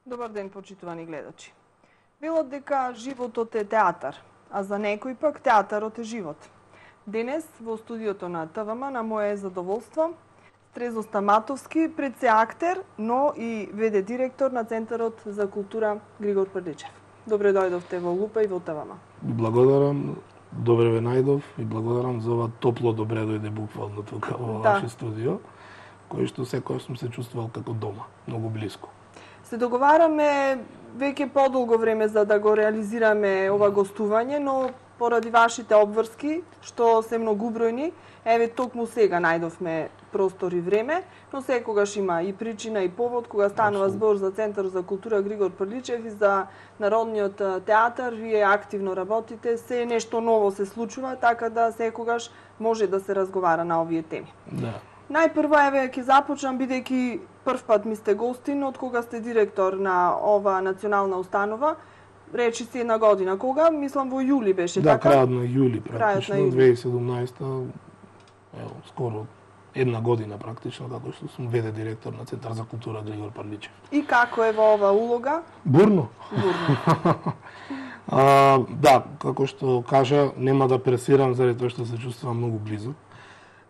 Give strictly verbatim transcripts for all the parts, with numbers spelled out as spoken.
Добар ден, почитувани гледачи. Велат дека животот е театар, а за некој пак театарот е живот. Денес во студиото на ТВМ на моje задоволство Стрезо Стаматовски, пред се актер, но и веде директор на Центарот за култура Григор Прличев. Добре дојдовте во Лупа и во ТВМ. Благодарам, добре ве најдов и благодарам за ова топло добре дојде буквално тука во да. ваше студио, кој што секој сум се чувствувал како дома, многу блиско. Се договараме веќе подолго време за да го реализираме ова гостување, но поради вашите обврски, што се многубројни, еве токму сега најдовме простор и време, но секогаш има и причина и повод кога станува збор за Центар за култура Григор Прличев и за Народниот театар, вие активно работите, се нешто ново се случува, така да секогаш може да се разговара на овие теми. Да. Најпрво, еве, ќе започнам, бидејќи прв пат ми сте гостин, од кога сте директор на ова национална установа, речи си една година. Кога? Мислам во јули беше, да, така? Да, крајот на јули, практично, на јули. две илјади и седумнаесета, ево, скоро една година практично, како што сум веде директор на Центар за култура Григор Прличев. И како е во ова улога? Бурно. Бурно. а, да, како што кажа, нема да пресирам заради тоа што се чувствувам многу близо.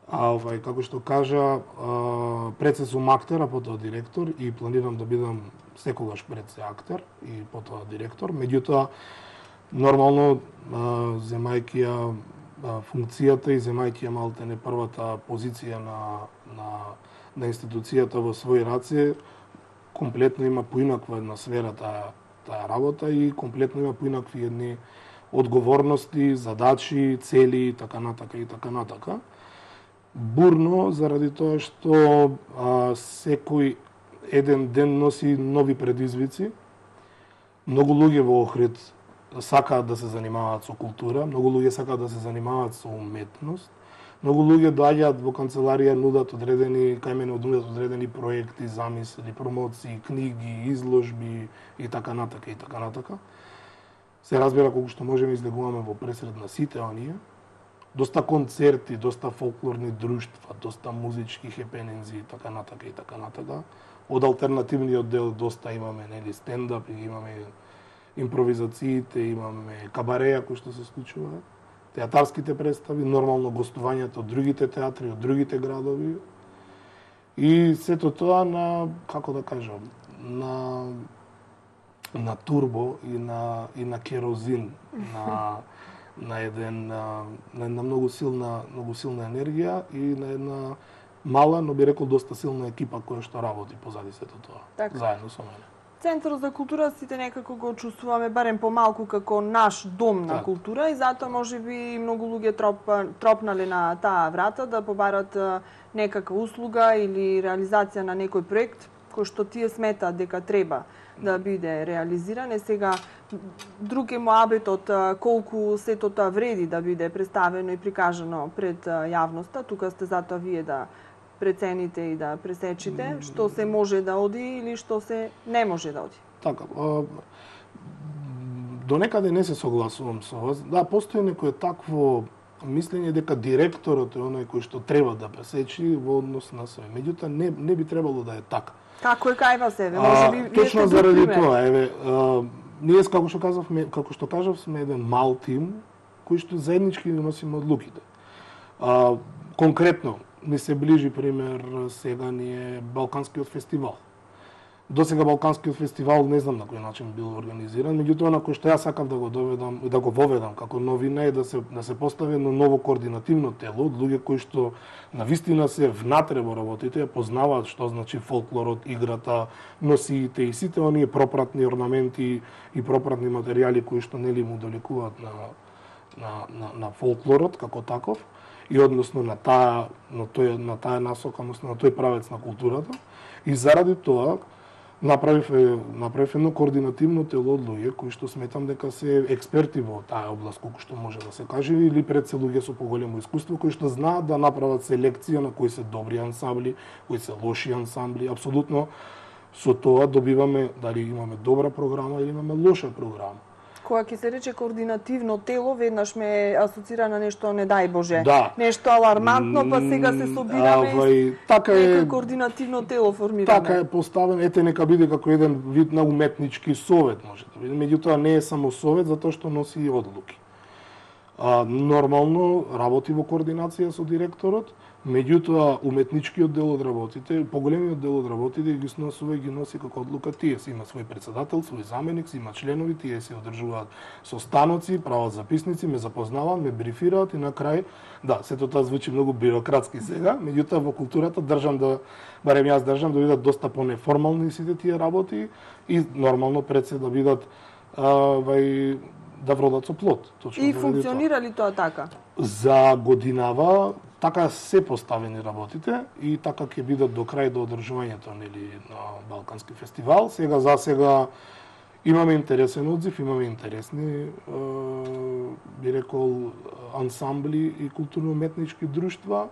А овај, како што кажа, а, пред се сум актер, а потоа директор и планирам да бидам секогаш пред се актер и потоа директор. Меѓутоа, нормално, а, земајќи ја а, функцијата и земајќи ја малте не првата позиција на, на, на институцијата во своји раце, комплетно има поинаква една сфера таа, таа работа и комплетно има поинакви едни одговорности, задачи, цели, така натака и така натака. Бурно, заради тоа што а, секој еден ден носи нови предизвици. Многу луѓе во Охрид сакаат да се занимаваат со култура, многу луѓе сакаат да се занимаваат со уметност, многу луѓе доаѓаат во канцеларија, нудат одредени, кај мене нудат одредени проекти, замисли, промоции, книги, изложби и така натака и така натака. Се разбира колку што можеме излегуваме во пресред на сите оние. Доста концерти, доста фолклорни друштва, доста музички хепенинзи и така натака и така натака. Од алтернативниот дел доста имаме, нели, стендап, имаме импровизациите, имаме кабареја кои што се случува, театарските представи, нормално гостувањето од другите театри, од другите градови. И сето тоа на, како да кажам, на на турбо и на и на керозин, на на еден на една многу силна многу силна енергија и на една мала, но би рекол доста силна екипа која што работи позади сето тоа, така, заедно со мене. Центар за култура сите некако го чувствуваме барем помалку како наш дом на так. култура и затоа можеби многу луѓе троп, тропнале на таа врата да побарат некаква услуга или реализација на некој проект кој што тие сметаат дека треба да биде реализиран. Е сега друг е моабетот колку сето тоа вреди да биде представено и прикажано пред јавноста. Тука сте затоа вие да прецените и да пресечите што се може да оди или што се не може да оди. Така, а, до некаде не се согласувам со вас. Да, постои некое такво мислење дека директорот е оној кој што треба да пресечи во однос на све. Меѓутоа не не би требало да е така. Како е кај вас, еве? Може би вие точно заради тоа, еве, а, ние како што казавме, како што кажав, сме еден мал тим кој што заеднички носиме одлуките. А, конкретно ми се ближи пример сега ни е Балканскиот фестивал. До сега Балканскиот фестивал не знам на кој начин бил организиран, меѓутоа на кој што јас сакав да го доведам и да го воведам како новина е да се да се постави едно ново координативно тело од луѓе кои што навистина се внатре во работите, ја познаваат што значи фолклорот, играта, носиите и сите оние пропратни орнаменти и пропратни материјали кои што нели му доликуваат на на на, на фолклорот како таков и односно на таа на тој на таа насока, односно на тој правец на културата. И заради тоа направив направив едно координативно тело од луѓе кои што сметам дека се експерти во таа област, колку што може да се каже, или пред се луѓе со поголемо искуство кои што знаат да направат селекција на кои се добри ансамбли, кои се лоши ансамбли. Апсолутно со тоа добиваме дали имаме добра програма или имаме лоша програма. Кога ќе се рече координативно тело, веднаш ме асоцира на нешто не дај Боже. Да. Нешто алармантно, па сега се собираме и така е координативно тело формираме. Така е поставен, ете нека биде како еден вид на уметнички совет, може да биде. Меѓутоа не е само совет затоа што носи и одлуки. А, нормално работи во координација со директорот, меѓутоа уметничкиот дел од работите, поголемиот дел од работите ги сносува и ги носи како одлука тие. Си има свој председател, свој заменик, си има членови, тие се одржуваат состаноци, прават записници, ме запознаваат, ме брифираат и на крај, да, сето тоа звучи многу бирократски сега, меѓутоа во културата држам да, барем јас држам да бидат доста понеформални сите тие работи и нормално пред се да бидат а, вај, да вродат со плод. Точно и функционира ли тоа така? За годинава така се поставени работите и така ќе бидат до крај до одржувањето нели на Балкански фестивал. Сега за сега имаме интересен одзив, имаме интересни е, би рекол ансамбли и културно-уметнички друштва.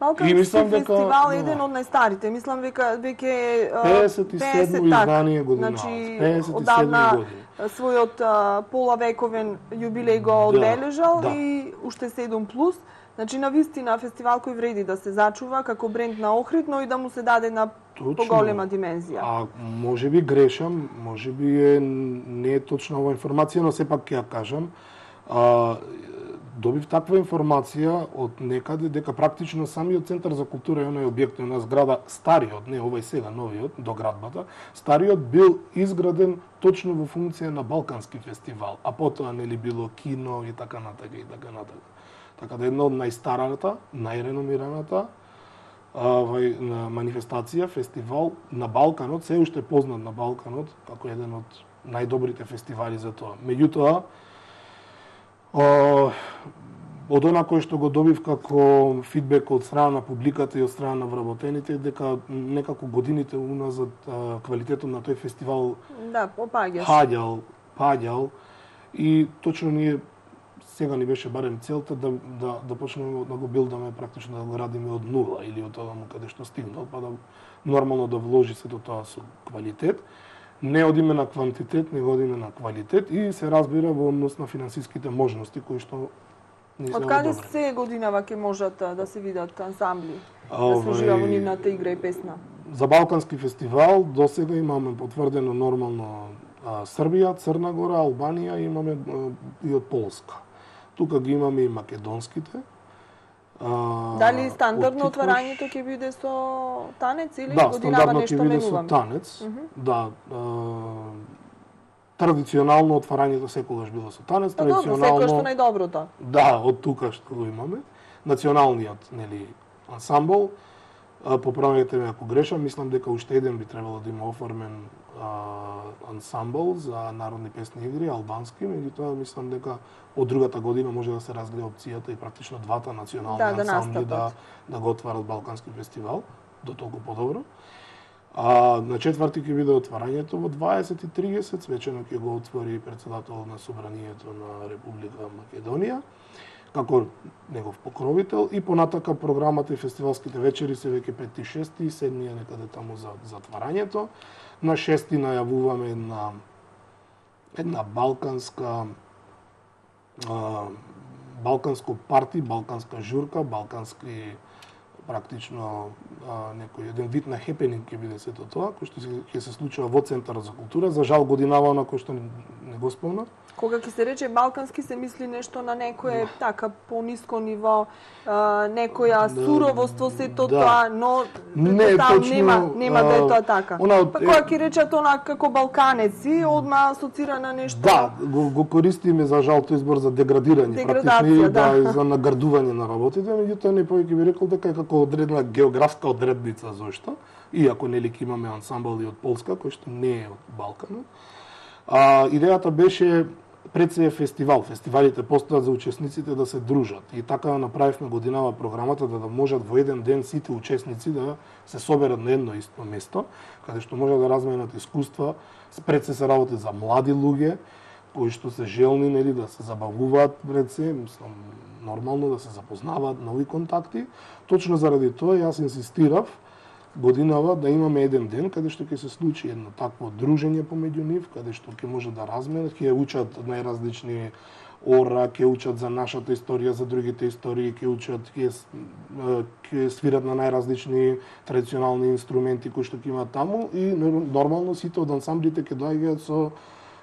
Балкански мислам, фестивал е еден од најстарите. Мислам века веќе песет и седмо издание година. Значи песет и седма одавна година. Својот а, полавековен јубилеј го одбележал да, да. и уште седум плюс. Значи на вистина фестивал кој вреди да се зачува како бренд на Охрид, но и да му се даде на точно, поголема димензија. А можеби грешам, можеби е не е точна ова информација, но сепак ќе ја кажам. А, добив таква информација од некаде дека практично самиот центар за култура е оној објект на зграда стариот, не овој сега новиот до градбата, стариот бил изграден точно во функција на Балкански фестивал, а потоа нели било кино и така натака и така натака. Така да една од најстараната, најреномираната вај манифестација, фестивал на Балканот, се уште познат на Балканот како еден од најдобрите фестивали за тоа. Меѓутоа, од она кој што го добив како фидбек од страна на публиката и од страна на вработените, дека некако годините уназад квалитетот на тој фестивал да, попаѓаш. Паѓал, паѓал и точно ние сега ни беше барем целта да да да почнеме да го билдаме практично да го градиме од нула или од тоа каде што стигнал, па да нормално да вложи сето тоа со квалитет. Не одиме на квантитет, него одиме на квалитет и се разбира во однос на финансиските можности кои што не се од каде се годинава ќе можат да се видат ансамбли, да се ужива во нивната игра и песна? За Балкански фестивал досега имаме потврдено нормално а, Србија, Црна Гора, Албанија, имаме а, и од Полска. Тука ги имаме и македонските. А, Дали стандардно отварањето ќе биде со танец или да, годинава нешто менуваме? Да, стандардно ќе биде со танец. Uh -huh. Да, а, традиционално отварањето секогаш било со танец, да, традиционално секогаш што најдоброто. Да, од тука што го имаме. Националниот, нели, ансамбл. Поправете ме ако грешам, мислам дека уште еден би требало да има оформен а, ансамбл за народни песни игри, албански, меѓутоа мислам дека од другата година може да се разгледа опцијата и практично двата национални да, да ансамбли да, да го отварат Балкански фестивал, до толку подобро. А на четврти ќе биде отварањето во дваесет и тридесет, свечено ќе го отвори председател на Собранието на Република Македонија како негов покровител и понатака програмата и фестивалските вечери се веќе пети, шести и седми е некаде таму за затварањето. На шести најавуваме една една балканска а, балканско парти, балканска журка, балкански практично а, некој еден вид на хепенинг ќе биде сето тоа, кој што ќе се случува во Центарот за култура. За жал годинава на кој што не, не го спомнав. Кога ќе се рече балкански се мисли нешто на некое така пониско ниво, а, некоја суровост во сето да. тоа, но не точно, нема нема да е тоа така. Она, па кога ќе речат она како балканеци, одма асоцира на нешто. Да, го, го користиме за жал тој избор за деградирање, практично да, да за наградување на работите, меѓутоа не повеќе би рекол дека е како одредена географска одредница зошто, иако нели ќе имаме ансамбл и од Полска кој што не е од Балканот. А, идејата беше пред се е фестивал. Фестивалите постојат за учесниците да се дружат. И така направивме годинава програмата да, да можат во еден ден сите учесници да се соберат на едно исто место, каде што можат да разменат искуства. Пред се се работи за млади луѓе, кои што се желни нели да се забавуваат пред се, мислам нормално да се запознаваат, нови контакти. Точно заради тоа јас инсистирав годинава да имаме еден ден каде што ќе се случи едно такво дружење помеѓу нив, каде што ќе може да разменат, ќе учат најразлични ора, ќе учат за нашата историја, за другите истории, ќе учат, ќе ќе свират на најразлични традиционални инструменти кои што ќе имаат таму и нормално сите од ансамблите ќе доаѓаат со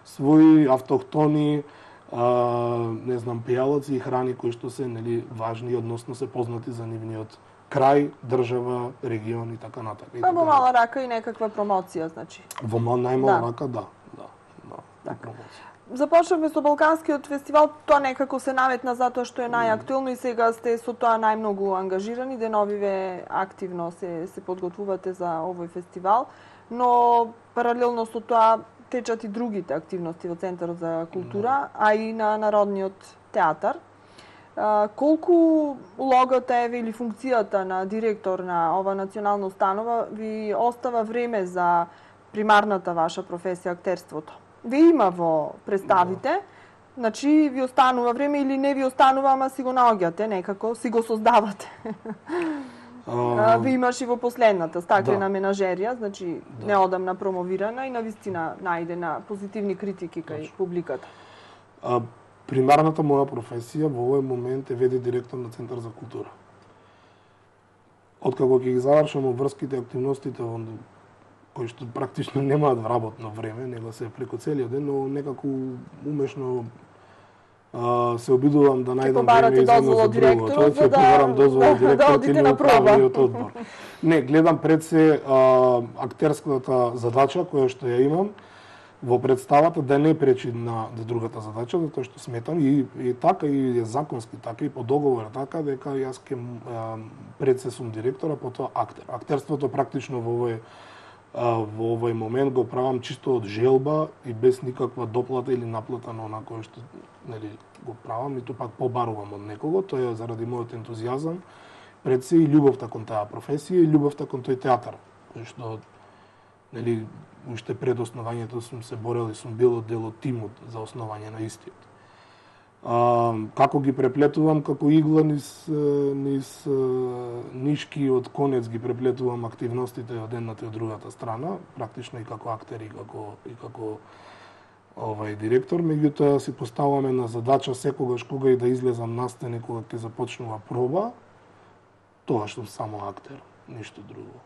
своји автохтони, а, не знам, пејалаци и храни кои што се, нели, важни, односно се познати за нивниот крај, држава, регион и така натаму. Па во мала рака и некаква промоција, значи. Во најмала да. рака, да, да, да. Така. Започнавме со Балканскиот фестивал, тоа некако се наметна затоа што е најактуелно и сега сте со тоа најмногу ангажирани, деновиве активно се се подготвувате за овој фестивал, но паралелно со тоа течат и другите активности во Центарот за култура, а и на Народниот театар. А, колку улогата е или функцијата на директор на ова национална установа ви остава време за примарната ваша професија актерството? Ви има во представите, значи ви останува време или не ви останува, ама си го наоѓате некако, си го создавате. Uh, ви имаш и во последната стаклена да. менажерија, значи да. неодамна промовирана и навистина најде на позитивни критики кај Точно. публиката. Uh, примарната моја професија во овој момент е веде директор на Центар за култура. Откако ќе ги завршам врските активностите во кои што практично немаат вработно време, него се преку целиот ден, но некако умешно Uh, се обидувам да најдам време за едно за друго. Тоа ќе побарам дозвола од директорот или од правниот одбор. Не, гледам пред се uh, актерската задача која што ја имам во представата да не пречи на другата задача, затоа што сметам и, и така и законски, така и по договор, така дека јас ќе uh, пред се сум директор, а потоа актер. Актерството практично во овој во овој момент го правам чисто од желба и без никаква доплата или наплата на она кое што, нели, го правам и тоа пак побарувам од некого, тоа е заради мојот ентузијазам, пред се и љубовта кон таа професија и љубовта кон тој театар, кој што, нели, уште пред основањето сум се борел и сум бил дел од тимот за основање на истиот. А, како ги преплетувам како игла низ, низ нишки од конец ги преплетувам активностите од едната и од другата страна, практично и како актер и како и како овај директор, меѓутоа си поставуваме на задача секогаш кога и да излезам настани кога ќе започнува проба, тоа што само актер, ништо друго.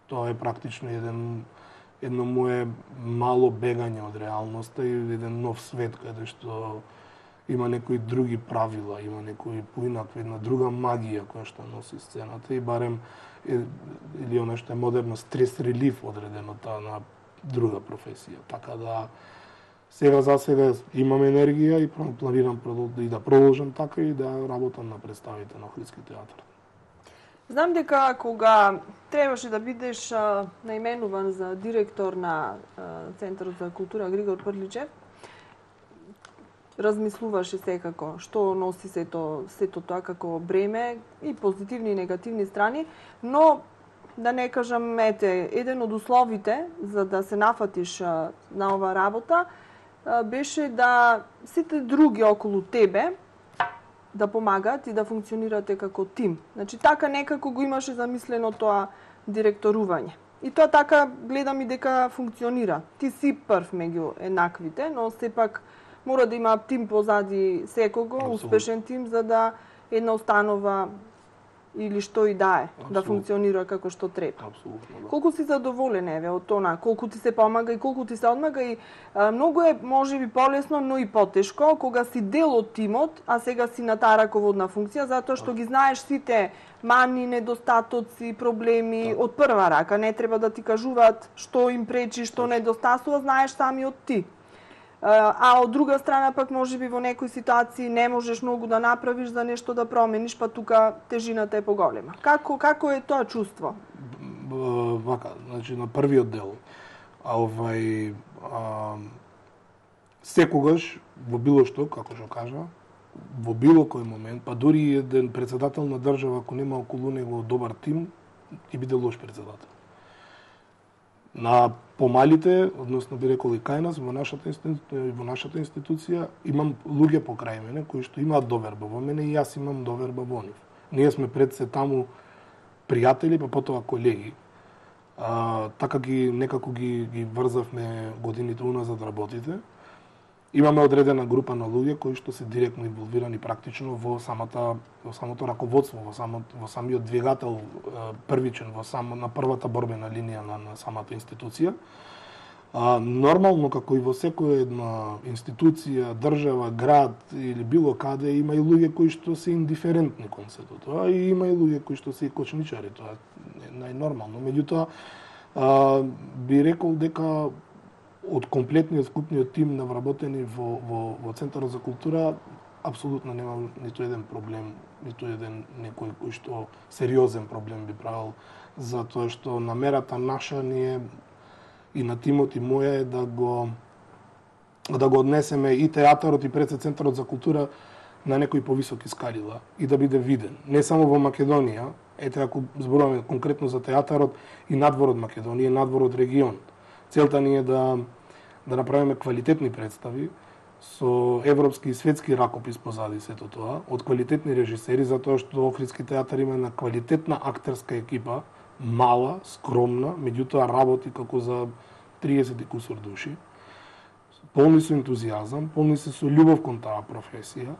Тоа е практично еден едно мое мало бегање од реалноста и еден нов свет каде што има некои други правила, има некои поинаква, една друга магија која што носи сцената и барем или она што е модерно стрес релиф одредено таа на друга професија. Така да сега за сега имам енергија и планирам и да продолжам така и да работам на представите на Охридски театар. Знам дека кога требаше да бидеш а, наименуван за директор на а, Центарот за култура Григор Прличев, размислуваше секако што носи сето, сето тоа како бреме и позитивни и негативни страни, но да не кажам, ете, еден од условите за да се нафатиш а, на ова работа а, беше да сите други околу тебе да помагаат и да функционирате како тим. Значи така некако го имаше замислено тоа директорување. И тоа така гледам и дека функционира. Ти си прв меѓу еднаквите, но сепак мора да има тим позади секого, Абсолютно. успешен тим, за да една установа или што и да е, Абсолютно. да функционира како што треба. Абсолютно, да. Колку си задоволен еве од тоа, колку ти се помага и колку ти се одмага и а, многу е можеби полесно, но и потешко кога си дел од тимот, а сега си на таа раководна функција, затоа што ги знаеш сите мани, недостатоци, проблеми да. од прва рака, не треба да ти кажуваат што им пречи, што недостасува, знаеш самиот ти. А од друга страна пак можеби во некои ситуации не можеш многу да направиш за нешто да промениш, па тука тежината е поголема. Како како е тоа чувство? Вака, значи на првиот дел, а овај а, секогаш во било што, како што кажа, во било кој момент, па дури еден претседател на држава ако нема околу него добар тим, ќе биде лош претседател. На помалите, односно би рекол и кај нас, во нашата институција, во нашата институција имам луѓе покрај мене кои што имаат доверба во мене и јас имам доверба во нив. Ние сме пред се таму пријатели, па потоа колеги. А, така ги некако ги ги врзавме годините уназад работите. Имаме одредена група на луѓе кои што се директно инволвирани практично во самата во самото раководство, во самото во самиот двигател првичен во само на првата борбена линија на, на самата институција. А, нормално, како и во секоја една институција, држава, град или било каде, има и луѓе кои што се индиферентни кон сето тоа, и има и луѓе кои што се и кочничари, тоа е најнормално. Меѓутоа, а, би рекол дека од комплетниот вкупниот тим на вработени во, во, во Центарот за култура, апсолутно нема ниту еден проблем, ниту еден некој кој што сериозен проблем би правил, затоа што намерата наша ни е и на тимот и моја е да го да го однесеме и театарот и пред се Центарот за култура на некои повисоки скалила и да биде виден. Не само во Македонија, ете ако зборуваме конкретно за театарот и надвор од Македонија, надвор од регион. Целта ни е да да направиме квалитетни представи со европски и светски ракопис позади сето тоа, од квалитетни режисери, затоа што Охридски театар има една квалитетна актерска екипа, мала, скромна, меѓутоа работи како за триесет и кусур души, полни со ентузијазам, полни се со љубов кон таа професија,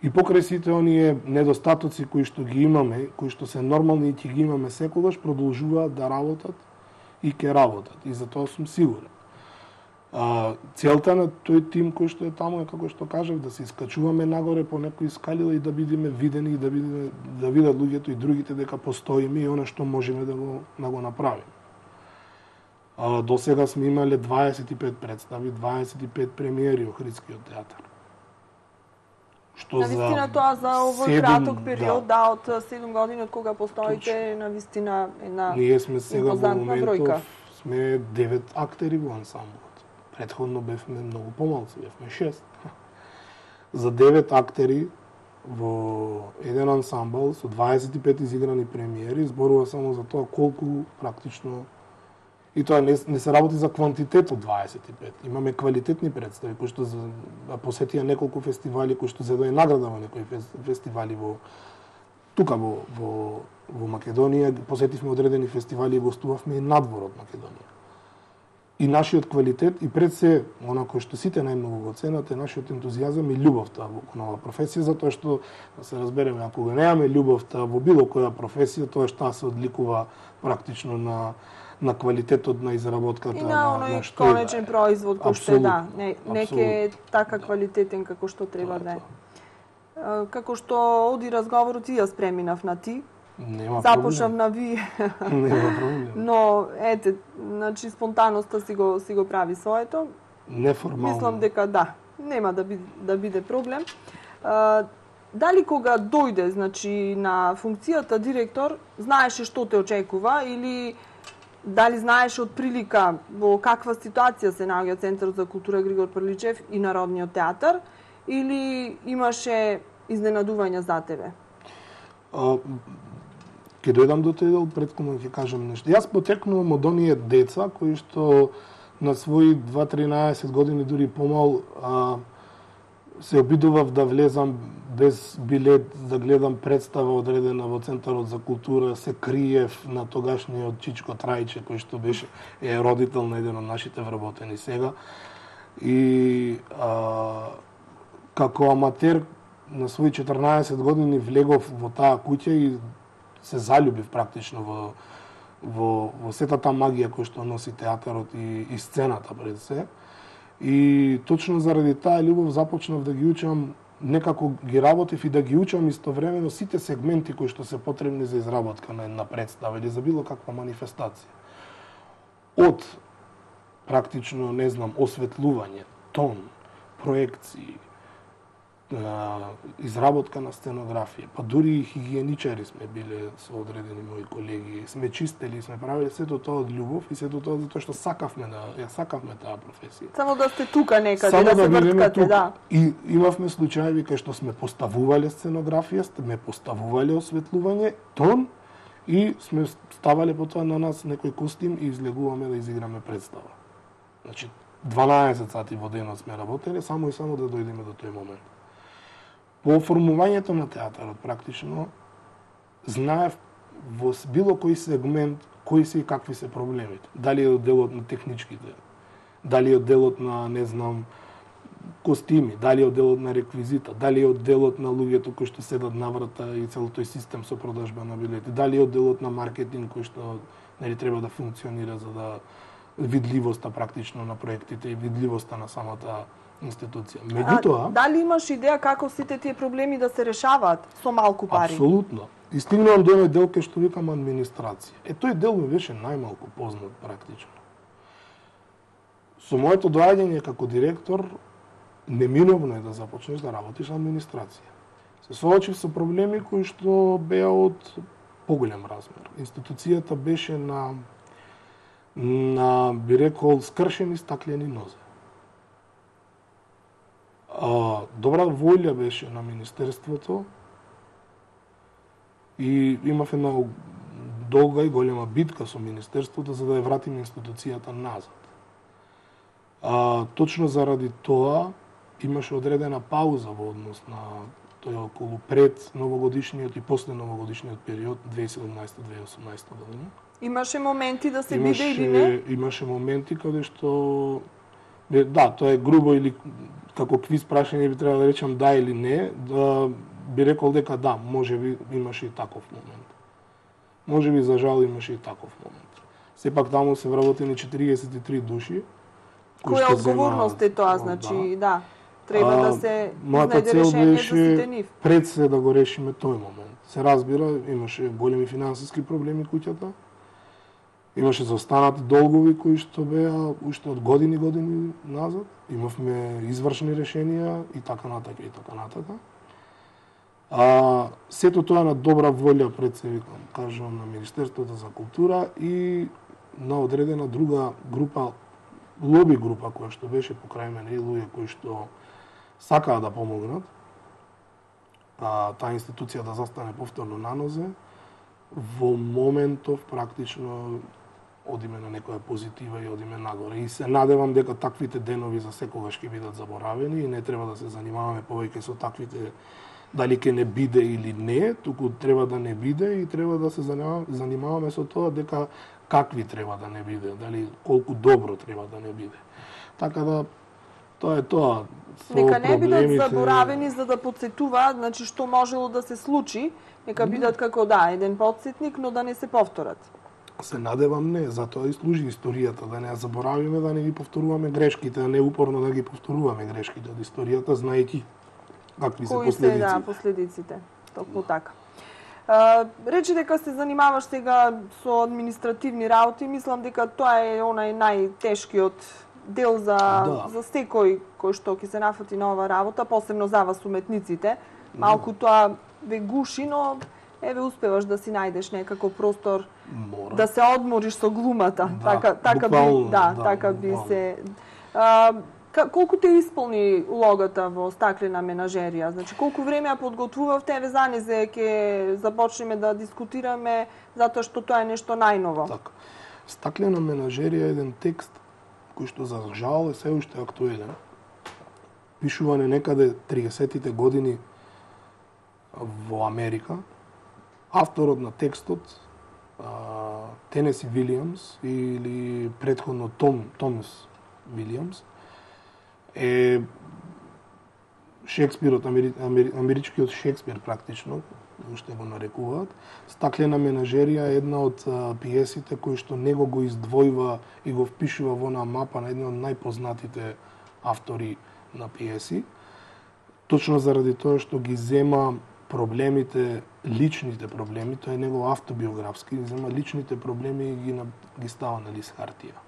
и покрај сите оние недостатоци кои што ги имаме, кои што се нормални и ќе ги имаме секогаш, продолжуваат да работат и ќе работат, и за тоа сум сигурен. А, целта на тој тим кој што е таму е, како што кажав, да се искачуваме нагоре по некои скалила и да бидеме видени и да бидеме да видат луѓето и другите дека постоиме и она што можеме да го да го направиме. А, до сега сме имале дваесет и пет представи, дваесет и пет премиери во Охридскиот театар. Што навистина за тоа за овој краток период, да, да, од седум години од кога постоите, навистина една ние сме сега во моментов сме девет актери во ансамблот. Претходно бевме многу помалци, бевме шест. За девет актери во еден ансамбл со дваесет и пет изиграни премиери зборува само за тоа колку практично, и тоа не, не се работи за квантитет од дваесет и пет. Имаме квалитетни представи кои што посетија неколку фестивали, кои што зедоа награда во некои фестивали во тука во во во Македонија, посетивме одредени фестивали и гостувавме и надвор од Македонија. И нашиот квалитет, и пред се, онако што сите најмногу го ценат, е нашиот ентузијазам и љубовта во нова професија, затоа што, да се разбереме, ако го немаме љубовта во било која професија, тоа што се одликува практично на на квалитетот на изработката и на на, на што конечен производ кој што е, да, не не е така квалитетен како што треба да е. Како што оди разговорот и јас преминав на ти. Нема Започнав на ви. Нема проблем. Но ете, значи спонтаноста си го си го прави своето. Неформално. Мислам дека да, нема да биде да биде проблем. А, дали кога дојде, значи на функцијата директор, знаеше што те очекува или дали знаеш од прилика во каква ситуација се наоѓа Центарот за култура Григор Прличев и Народниот театар, или имаше изненадувања за тебе? А, Ке дојдам до тој дел, претходно ќе кажам нешто. Јас потекнувам од оние деца кои што на своји дваесет-тринаесет години, дури помал, а, се обидував да влезам без билет да гледам представа одредена во Центарот за култура, се криев на тогашниот Чичко Трајче, кој што беше е родител на еден од нашите вработени сега. И а, како аматер на своји четрнаесет години влегов во таа куќа и се заљубив практично во во во сета таа магија која што носи театарот и, и сцената пред се. И точно заради таа љубов започнав да ги учам, некако ги работев и да ги учам истовремено сите сегменти кои што се потребни за изработка на една представа или за било каква манифестација. Од практично, не знам, осветлување, тон, проекции, изработка на сценографија, па дури и хигиеничари сме биле со одредени мои колеги, сме чистели, сме правили сето тоа од љубов и сето тоа затоа што сакавме да ја сакавме таа професија. Само да сте тука некаде, само да, да се врткате, да. И имавме случаи кај што сме поставувале сценографија, сме поставувале осветлување, тон и сме ставале потоа на нас некој костим и излегуваме да изиграме представа. Значи дванаесет сати во денот сме работеле само и само да дојдеме до тој момент. По формувањето на театарот, практично, знаев во било кој сегмент кои се и какви се проблемите. Дали е од делот на техничките, дали е од делот на, не знам, костими, дали е од делот на реквизита, дали е од делот на луѓето кои што седат на врата и целиот тој систем со продажба на билети, дали е од делот на маркетинг кој што нели треба да функционира за да видливоста практично на проектите и видливоста на самата институција. Меѓутоа, а, дали имаш идеја како сите тие проблеми да се решаваат со малку пари? Апсолутно. И стигнувам до оној дел кај што викам администрација. Е, тој дел ми беше најмалку познат практично. Со моето доаѓање како директор, неминовно е да започнеш да работиш на администрација. Се соочив со проблеми кои што беа од поголем размер. Институцијата беше на, на би рекол, скршени стаклени нозе. А, добра волја беше на Министерството и имав една долга и голема битка со Министерството за да ја вратиме институцијата назад. А, точно заради тоа имаше одредена пауза во однос на тој околу пред новогодишниот и после новогодишниот период две илјади и седумнаесета - две илјади и осумнаесета година. Имаше моменти да се имаше, биде или не? Имаше моменти каде што да, тоа е грубо или како квиз прашање би требало да речам да или не, да би рекол дека да, можеби имаше и таков момент. Можеби за жал имаше и таков момент. Сепак таму се вработени четириесет и три души. Која одговорност е тоа, значи, да. Треба да се најде решение за сите нив. Пред се да го решиме тој момент. Се разбира, имаше големи финансиски проблеми куќата. Имаше заостанати долгови кои што беа уште од години години назад. Имавме извршни решенија и така натака и така натака. А сето тоа на добра волја пред се викам, кажам на Министерството за култура и на одредена друга група, лоби група која што беше покрај мене и луѓе кои што сакаа да помогнат. А, таа институција да застане повторно на нозе. Во моментов практично одиме на некоја позитива и одиме нагоре. И се надевам дека таквите денови за секогаш ќе бидат заборавени и не треба да се занимаваме повеќе со таквите дали ќе не биде или не, туку треба да не биде и треба да се занимаваме со тоа дека какви треба да не биде, дали колку добро треба да не биде. Така да тоа е тоа. Со Нека не проблемите... бидат заборавени за да подсетуваат, значи што можело да се случи, нека бидат како да, еден подсетник, но да не се повторат. Се надевам не, затоа и служи историјата, да не ја заборавиме, да не ги повторуваме грешките, а не упорно да ги повторуваме грешките од историјата, знаејќи какви се последици. Кои се, да, последиците. Токму така. А, речи дека се занимаваш сега со административни работи, мислам дека тоа е онај најтешкиот дел за, да. за секој кој што ќе се нафати на оваа работа, посебно за вас уметниците. Малку тоа ве гуши, но еве успеваш да си најдеш некако простор Мора. да се одмориш со глумата. Да, така така буквално, би, да, да, така би буквално. се а, колку те исполни улогата во стаклена менажерија? Значи колку време ја подготвувавте, еве занезе ќе започнеме да дискутираме затоа што тоа е нешто најново. Така. Стаклена менажерија е еден текст кој што за жал е се уште актуелен. Пишуване некаде триесеттите години во Америка. Авторот на текстот, Тенеси Вилијамс или претходно Том Томас Вилијамс, е Шекспирот, амери, амери, америчкиот Шекспир практично, уште го нарекуваат. Стаклена менажерија е една од а, пиесите кои што него го издвојува и го впишува во на мапа на едни од најпознатите автори на пиеси. Точно заради тоа што ги зема проблемите, личните проблеми, тоа е негов автобиографски, ги зема личните проблеми и ги, ги става на лист хартија.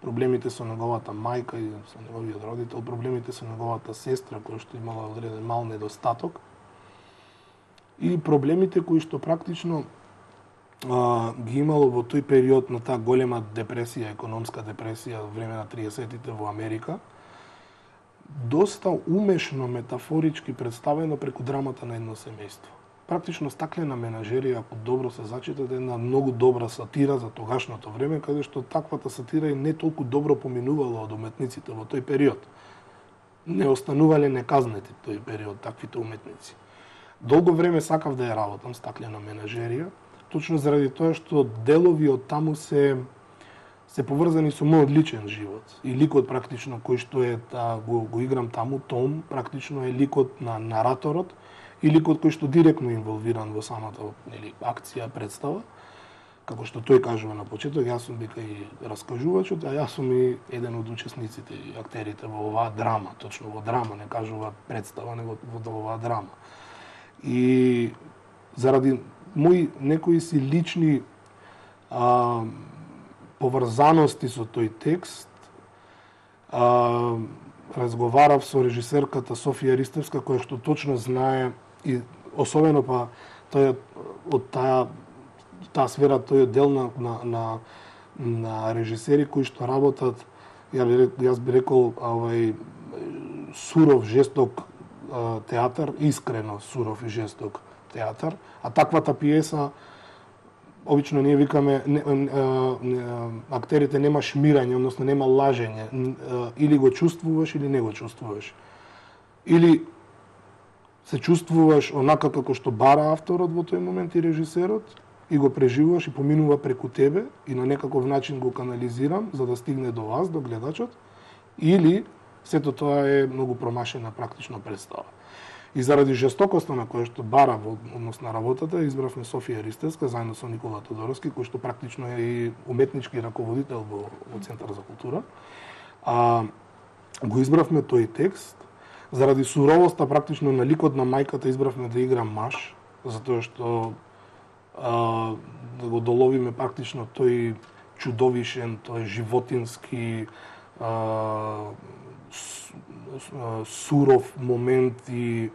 Проблемите со неговата мајка и со неговиот родител, проблемите со неговата сестра која што имала одреден мал недостаток и проблемите кои што практично а, ги имало во тој период на таа голема депресија, економска депресија во време на триесеттите во Америка, доста умешно метафорички представено преку драмата на едно семејство. Практично стаклена менажерија, ако добро се зачита, е една многу добра сатира за тогашното време, каде што таквата сатира и не толку добро поминувала од уметниците во тој период. Не останувале неказнети тој период таквите уметници. Долго време сакав да ја работам стаклена менажерија, точно заради тоа што делови од таму се се поврзани со мојот личен живот. И ликот практично кој што е та, го, го играм таму, Том, практично е ликот на нараторот и ликот кој што директно е инволвиран во самата, нели, акција, представа. Како што тој кажува на почеток, јас сум вика и раскажувачот, а јас сум и еден од учесниците и актерите во оваа драма, точно во драма, не кажува представа, него во оваа драма. И заради мои некои си лични а, поврзаности со тој текст, а, разговарав со режисерката Софија Ристевска, која што точно знае и особено па тој од таа таа сфера, тој е дел на, на, на, на режисери кои што работат, ја би, јас би рекол, овај, суров, жесток а, театар, искрено суров и жесток театар, а таквата пиеса, обично ние викаме, не, не, не, актерите нема шмирање, односно нема лажење, или го чувствуваш или не го чувствуваш. Или се чувствуваш онака како што бара авторот во тој момент и режисерот, и го преживуваш и поминува преку тебе и на некаков начин го канализирам за да стигне до вас, до гледачот, или сето тоа е многу промашена практично представа. И заради жестокоста на која што бара во однос на работата, избравме Софија Ристевска заедно со Никола Тодоровски, кој што практично е и уметнички раководител во, во Центар за култура. А, го избравме тој текст, заради суровоста практично на ликот на мајката избравме да игра маж, затоа што а, да го доловиме практично тој чудовишен, тој животински а, суров момент и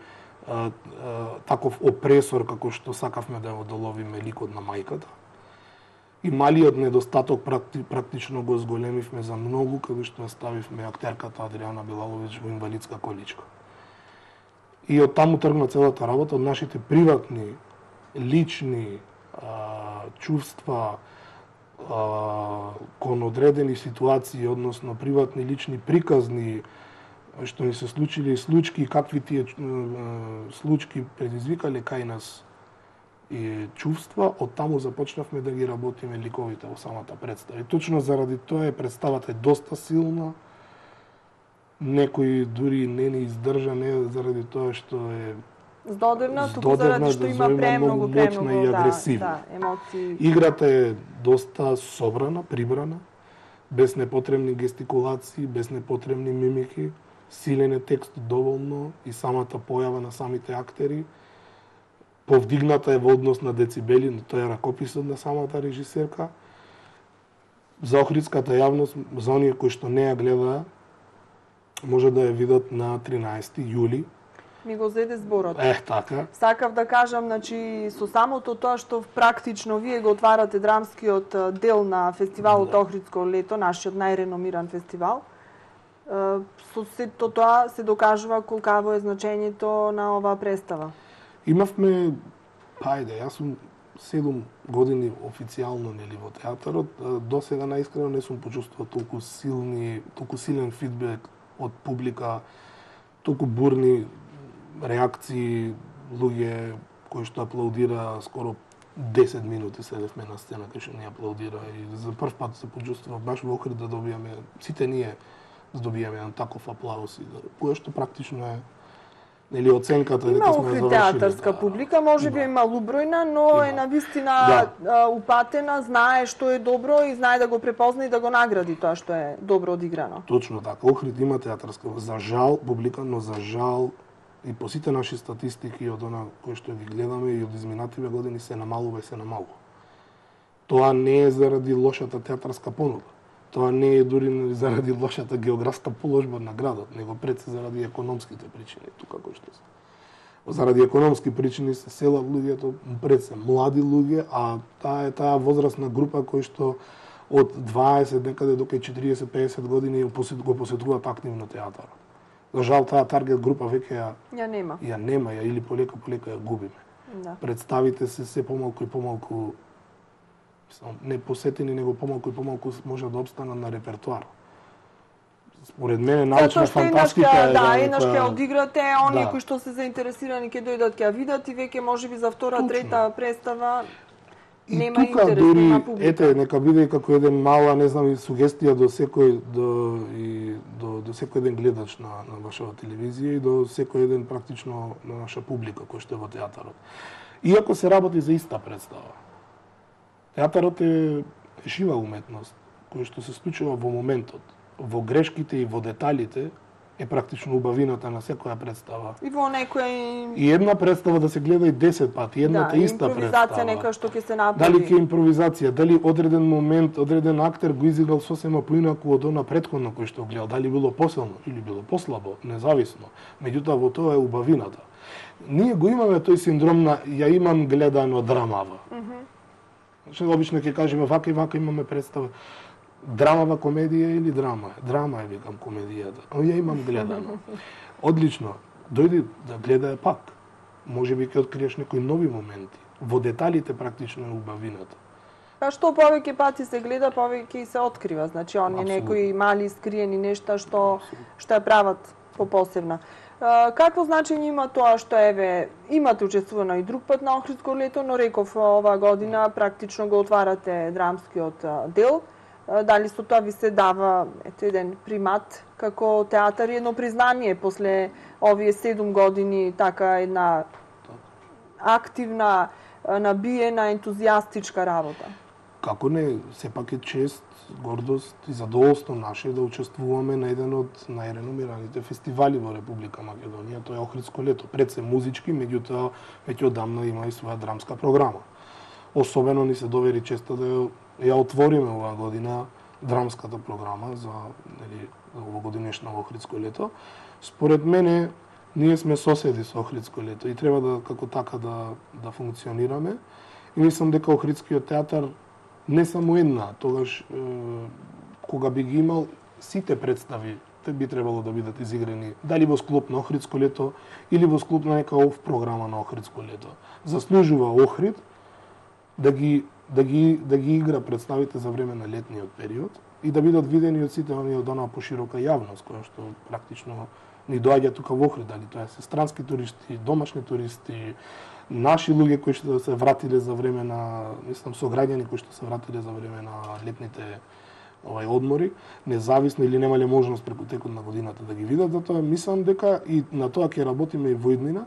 а, а, таков опресор како што сакавме да го доловиме ликот на мајката. И малиот недостаток практи, практично го зголемивме за многу, кога што ставивме актерката Адријана Билаловиќ во инвалидска количка. И од таму тргна целата работа, од нашите приватни, лични а, чувства а, кон одредени ситуации, односно приватни, лични, приказни, што ни се случили случки, какви тие случки предизвикале кај нас и чувства, од таму започнавме да ги работиме ликовите во самата представа. И точно заради тоа е представата е доста силна, некои дури не ни издржа, не заради тоа што е здодевна, туку заради што има премногу, премногу, и агресивна. Да, да, емоции. Играта е доста собрана, прибрана, без непотребни гестикулации, без непотребни мимики, силен е текст доволно и самата појава на самите актери, повдигната е во однос на децибели, но тоа е ракописот на самата режисерка. За охридската јавност, за оние кои што не ја гледаа, може да ја видат на тринаесети јули. Ми го зеде зборот. Ех, така. Сакав да кажам, значи, со самото тоа што практично вие го отварате драмскиот дел на фестивалот да. Охридско лето, нашиот најреномиран фестивал, со сето тоа се докажува колкаво е значењето на оваа представа. Имавме, пајде, јас сум седум години официјално нели во театарот, до сега наискрено не сум почувствувал толку силни, толку силен фидбек од публика, толку бурни реакции, луѓе кои што аплаудира скоро десет минути седевме на сцена кај што ни аплаудира и за прв пат се почувствував баш во Охрид да добиеме, сите ние да добиеме еден таков аплауз и кој што практично е нели оценката дека сме завршили. Има театарска да, публика, може би има лубројна, но има. Е навистина да. Упатена, знае што е добро и знае да го препозна и да го награди тоа што е добро одиграно. Точно така. Охрид има театарска, за жал публика, но за жал и по сите наши статистики од она кои што ги гледаме и од изминативе години се намалува и се намалува. Тоа не е заради лошата театарска понуда. Тоа не е дури заради лошата географска положба на градот, него пред се заради економските причини, тука кој што се. Заради економски причини се селат луѓето, пред се млади луѓе, а таа е таа возрастна група кој што од дваесет некаде до четириесет до пеесет години го посетуваат активно театар. За жал таа таргет група веќе ја ја нема. Ја нема, ја или полека полека ја губиме. Да. Представите се се помалку и помалку не посетени, него помалку и помалку може да обстанат на репертоар. Според мене научна фантастика е да, еднаш ќе одиграте, оние да. кои што се заинтересирани ќе дојдат ќе ја видат и веќе можеби за втора, точно. Трета представа И нема тука интерес, дури, нема публика. ете, нека биде и како еден мала, не знам, и сугестија до секој до и до до секој еден гледач на на вашава телевизија и до секој еден практично на наша публика кој што е во театарот. Иако се работи за иста представа. Театарот е жива уметност која што се случува во моментот, во грешките и во деталите е практично убавината на секоја представа. И во некој И една представа да се гледа и десет пати, едната да, иста представа. импровизација нека што ќе се направи. Дали ќе импровизација, дали одреден момент, одреден актер го изиграл сосема поинаку од она претходно кој што гледал, дали било посилно или било послабо, независно. Меѓутоа во тоа е убавината. Ние го имаме тој синдром на ја имам гледано драмава. Mm -hmm. Што обично ќе кажеме вака и вака имаме представа. Драмава комедија или драма? Драма е, викам, комедијата. Но ја имам гледано. Одлично. Дојди да гледај пак. Може би ќе откриеш некои нови моменти. Во деталите практично е убавината. Па што повеќе пати се гледа, повеќе и се открива. Значи, оние некои мали скриени нешта што што ја прават попосебна. Какво значење има тоа што еве имате учествувано и друг пат на Охридско лето, но реков оваа година практично го отварате драмскиот дел. Дали со тоа ви се дава ето еден примат како театар и едно признание после овие седум години така една активна, набиена, ентузијастичка работа? Како не, сепак е чест, гордост и задоволство наше да учествуваме на еден од најреномираните фестивали во Република Македонија, тоа е Охридско лето. Пред се музички, меѓутоа веќе одамна има и своја драмска програма. Особено ни се довери честа да ја, ја отвориме оваа година драмската програма за нели овогодинешно Охридско лето. Според мене ние сме соседи со Охридско лето и треба да како така да да функционираме. И мислам дека Охридскиот театар не само една, тогаш е, кога би ги имал сите представи, те би требало да бидат изиграни дали во склоп на Охридско лето или во склоп на нека ов програма на Охридско лето. Заслужува Охрид да ги да ги да ги игра представите за време на летниот период и да бидат видени од сите оние од онаа поширока јавност која што практично ни доаѓа тука во Охрид, дали тоа се странски туристи, домашни туристи, наши луѓе кои што се вратиле за време на, мислам, сограѓани кои што се вратиле за време на летните овај одмори, независно или немале можност преку текот на годината да ги видат, затоа мислам дека и на тоа ќе работиме и во иднина,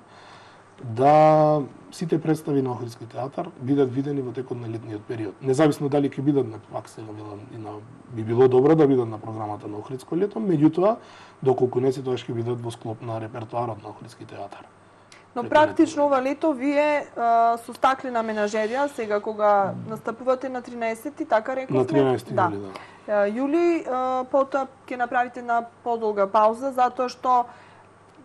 да сите представи на Охридски театар бидат видени во текот на летниот период. Независно дали ќе бидат на пак сега и на би било добро да бидат на програмата на Охридско лето, меѓутоа доколку не се тоа ќе бидат во склоп на репертоарот на Охридски театар. Но практично ова лето вие а, со стаклена менажерија сега кога настапувате на тринаесети, така рековме? На тринаесети да. јули, да. Јули, а, потоа ќе направите една подолга пауза затоа што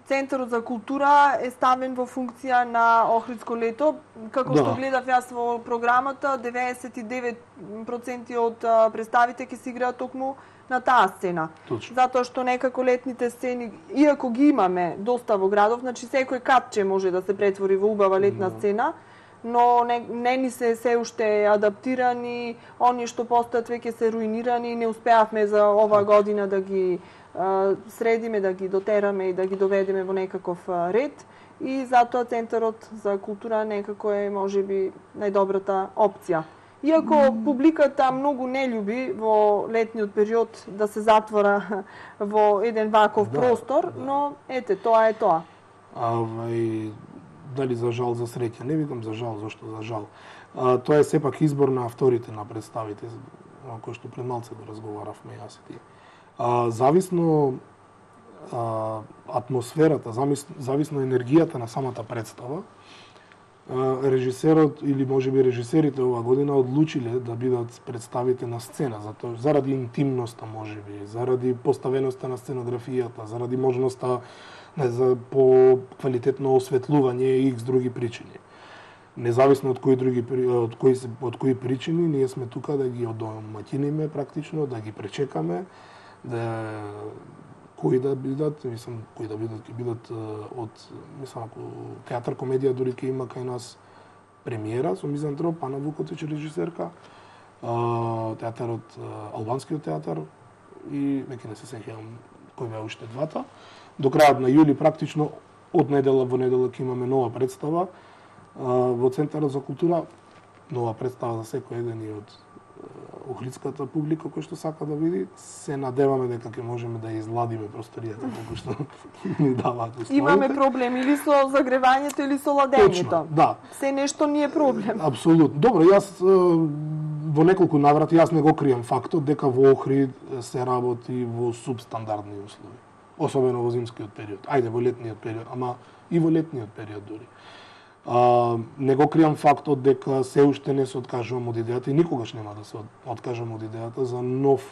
Центарот за култура е ставен во функција на Охридско лето. Како да. Што гледав јас во програмата, деветдесет и девет проценти од представите ќе се играат токму на таа сцена. Точно. Затоа што некако летните сцени, иако ги имаме доста во градов, значи секој катче може да се претвори во убава летна да. Сцена, но не, не ни се се уште адаптирани, оние што постојат веќе се руинирани и не успеавме за оваа година да ги средиме, да ги дотераме и да ги доведеме во некаков ред и затоа Центарот за култура некако е можеби најдобрата опција. Иако mm. публиката многу не љуби во летниот период да се затвора во еден ваков да, простор, да. Но ете, тоа е тоа. А, и, дали за жал, за среќа, не викам за жал, зашто за жал. А, тоа е сепак избор на авторите на представите, кој што пред малце го разговаравме јас и ти. А, зависно а, атмосферата, зависно енергијата на самата представа, а, режисерот или можеби режисерите оваа година одлучиле да бидат представите на сцена, затоа заради интимноста можеби, заради поставеноста на сценографијата, заради можноста не, за по квалитетно осветлување и икс други причини. Независно од кои други од кои од кои причини, ние сме тука да ги одомаќиниме практично, да ги пречекаме, да кои да бидат, мислам, кои да бидат, ќе бидат од, мислам, ако театар комедија дури ќе има кај нас премиера со Мизантроп, Ана Вукотич режисерка, театарот, албанскиот театар и веќе не се сеќавам кој беа уште двата. До крајот на јули практично од недела во недела ќе имаме нова представа во Центарот за култура. нова представа за секој еден и од охридската публика кој што сака да види. Се надеваме дека ќе можеме да изладиме просторијата колку што ни даваат условите. Имаме проблем или со загревањето или со ладењето. Точно, да. Се нешто ни е проблем. Апсолутно. Добро, јас во неколку наврати јас не го крием фактот дека во Охрид се работи во субстандардни услови, особено во зимскиот период. Ајде во летниот период, ама и во летниот период дури. А, не го криам фактот дека се уште не се откажувам од идејата и никогаш нема да се откажам од идејата за нов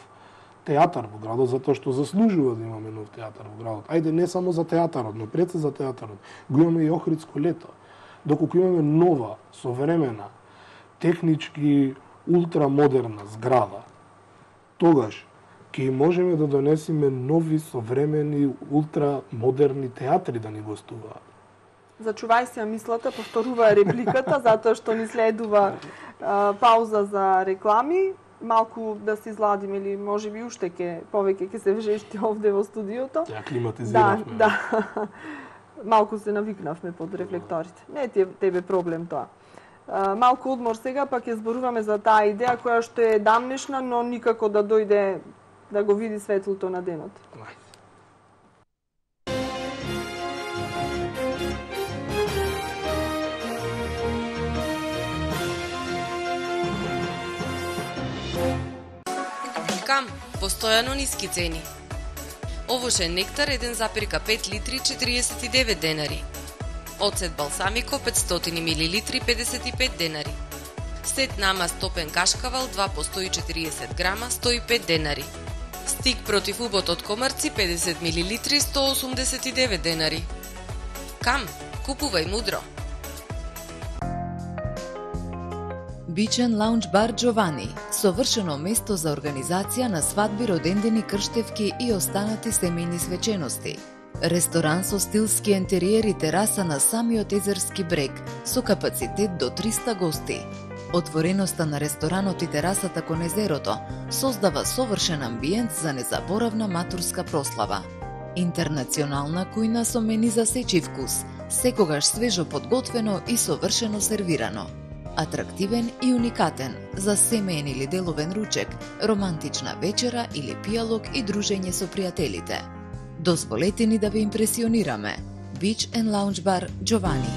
театар во градот, затоа што заслужува да имаме нов театар во градот. Ајде не само за театарот, но пред се за театарот. Го имаме и Охридско лето. Доколку имаме нова, современа, технички ултрамодерна зграда, тогаш ќе можеме да донесеме нови, современи, ултрамодерни театри да ни гостуваат. Зачувај си ја мислата, повторува репликата, затоа што ни следува а, пауза за реклами. Малку да се изладим или може би уште ке повеќе ќе се вжешти овде во студиото. Ја климатизиравме. Да, да. Малку се навикнавме под рефлекторите. Не е тебе проблем тоа. А, малку одмор сега, па ќе зборуваме за таа идеја која што е дамнешна, но никако да дојде да го види светлото на денот. Кам, постојано ниски цени. Овошен нектар еден запир пет литри четириесет и девет денари. Оцет балсамико петстотини милилитри педесет и пет денари. Сет намаз топен кашкавал два по сто и четириесет грама сто и пет денари. Стик против убот од комарци педесет милилитри сто осумдесет и девет денари. Кам, купувај мудро. Beach and Lounge Bar Giovanni, совршено место за организација на свадби, родендени, крштевки и останати семејни свечености. Ресторан со стилски ентериер и тераса на самиот езерски брег, со капацитет до триста гости. Отвореноста на ресторанот и терасата кон езерото создава совршен амбиент за незаборавна матурска прослава. Интернационална кујна со мени за сечи вкус, секогаш свежо подготвено и совршено сервирано. Атрактивен и уникатен за семеен или деловен ручек, романтична вечера или пијалок и дружење со пријателите. Дозволете ни да ве импресионираме. Beach and Lounge Bar Giovanni.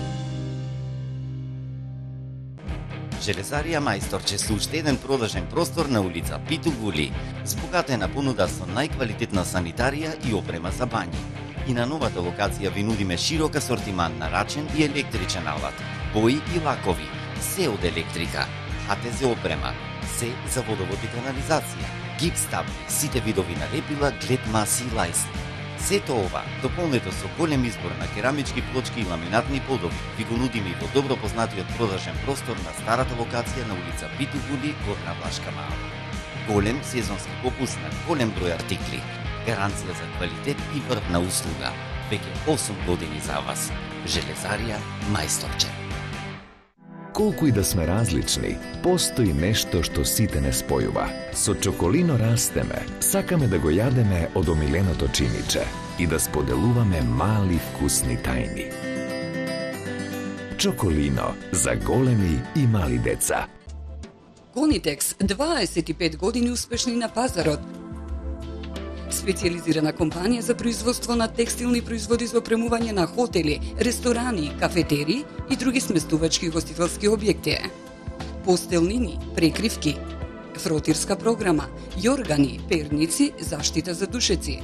Железарија Мајсторче со уште еден продажен простор на улица Питу Гули, збогатена понуда со најквалитетна санитарија и опрема за бањи. И на новата локација ви нудиме широк асортиман на рачен и електричен алат, бои и лакови, се од електрика, ХТЗ опрема, се за водовод и канализација, гипстаб, сите видови на лепила, глед маси и лајси. Сето ова, дополнето со голем избор на керамички плочки и ламинатни подови, ви го нудиме и во добро познатиот продажен простор на старата локација на улица Питу Гули, Горна Влашка мала. Голем сезонски попуст на голем број артикли, гаранција за квалитет и врвна услуга. Веќе осум години за вас. Железарија Мајсторче. Колку и да сме различни, постои нешто што сите не спојува. Со Чоколино растеме, сакаме да го јадеме од омиленото чиниче и да споделуваме мали вкусни тајни. Чоколино за големи и мали деца. Конитекс, дваесет и пет години успешни на пазарот. Специјализирана компанија за производство на текстилни производи за опремување на хотели, ресторани, кафетери и други сместувачки и гостителски објекти. Постелнини, прекривки, фротирска програма, јоргани, перници, заштита за душеци,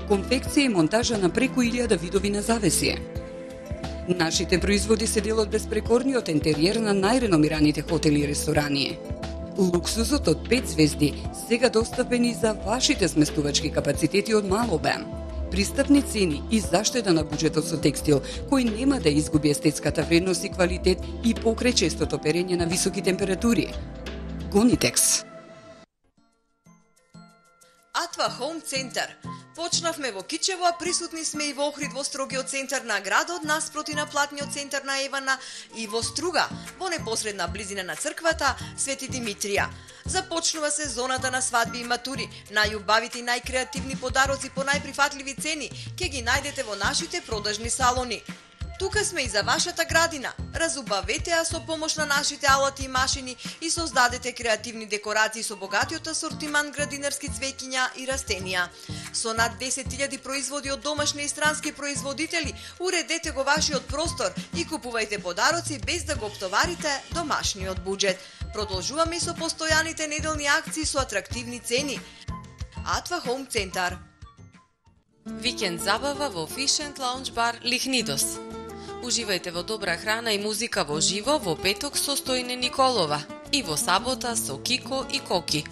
конфекција и монтажа на преку илјада видови на завеси. Нашите производи се дел од безпрекорниот ентериер на најреномираните хотели и ресторани. Луксузот од пет звезди сега достапени за вашите сместувачки капацитети од мал обем. Пристапни цени и заштеда на буџетот со текстил, кој нема да изгуби естетската вредност и квалитет и покрај честото перење на високи температури. Гонитекс. Атва Хоум Центар. Почнавме во Кичево, а присутни сме и во Охрид во строгиот центар на градот, наспроти на платниот центар на Евана и во Струга, во непосредна близина на црквата Свети Димитрија. Започнува сезоната на свадби и матури. Најубавите и најкреативни подароци по најприфатливи цени ќе ги најдете во нашите продажни салони. Тука сме и за вашата градина. Разубавете ја со помош на нашите алати и машини и создадете креативни декорации со богатиот асортиман градинарски цвеќиња и растенија. Со над десет илјади производи од домашни и странски производители, уредете го вашиот простор и купувајте подароци без да го оптоварите домашниот буџет. Продолжуваме и со постојаните неделни акции со атрактивни цени. Атва Home Центар. Викенд забава во Fish and Lounge бар Лихнидос. Уживајте во добра храна и музика во живо во петок со Стојне Николова и во сабота со Кико и Коки.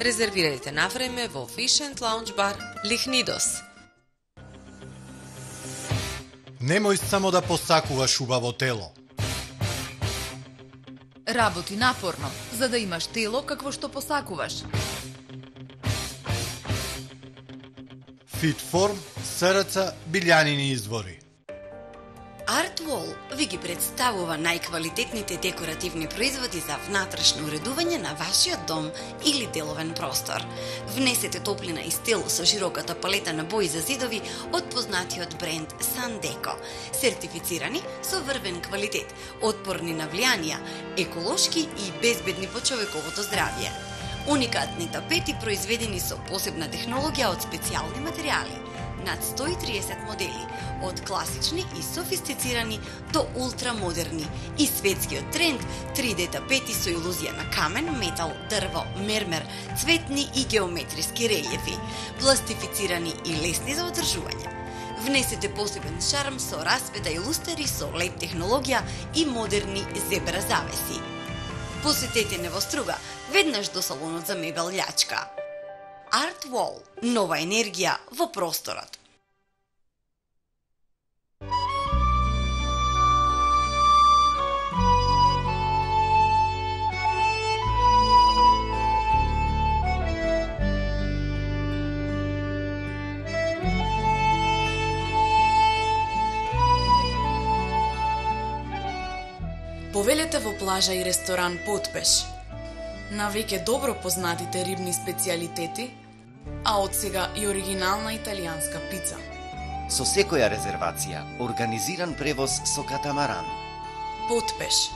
Резервирајте на време во Fish and Lounge бар Лихнидос. Немој само да посакуваш убаво тело. Работи напорно, за да имаш тело какво што посакуваш. Фитформ, СРЦ, Билјанини извори. Artwall ви ги представува најквалитетните декоративни производи за внатрешно уредување на вашиот дом или деловен простор. Внесете топлина и стил со широката палета на бои за зидови од познатиот бренд Sandeco, сертифицирани со врвен квалитет, отпорни на влијанија, еколошки и безбедни по човековото здравје. Уникатни тапети произведени со посебна технологија од специјални материјали. Над сто и триесет модели, од класични и софистицирани до ултрамодерни, и светскиот тренд три Д тапети со илузија на камен, метал, дрво, мермер, цветни и геометриски релјефи, пластифицирани и лесни за одржување. Внесете посебен шарм со расвета и лустери со лед технологија и модерни зебра завеси. Посетете Невоструга, веднаш до салонот за мебел Љачка. Artwall – нова енергија во просторот. Повелете во плажа и ресторан Потпеш. На веќе добро познатите рибни специјалитети, а од сега и оригинална италијанска пица. Со секоја резервација, организиран превоз со катамаран. Потпеш,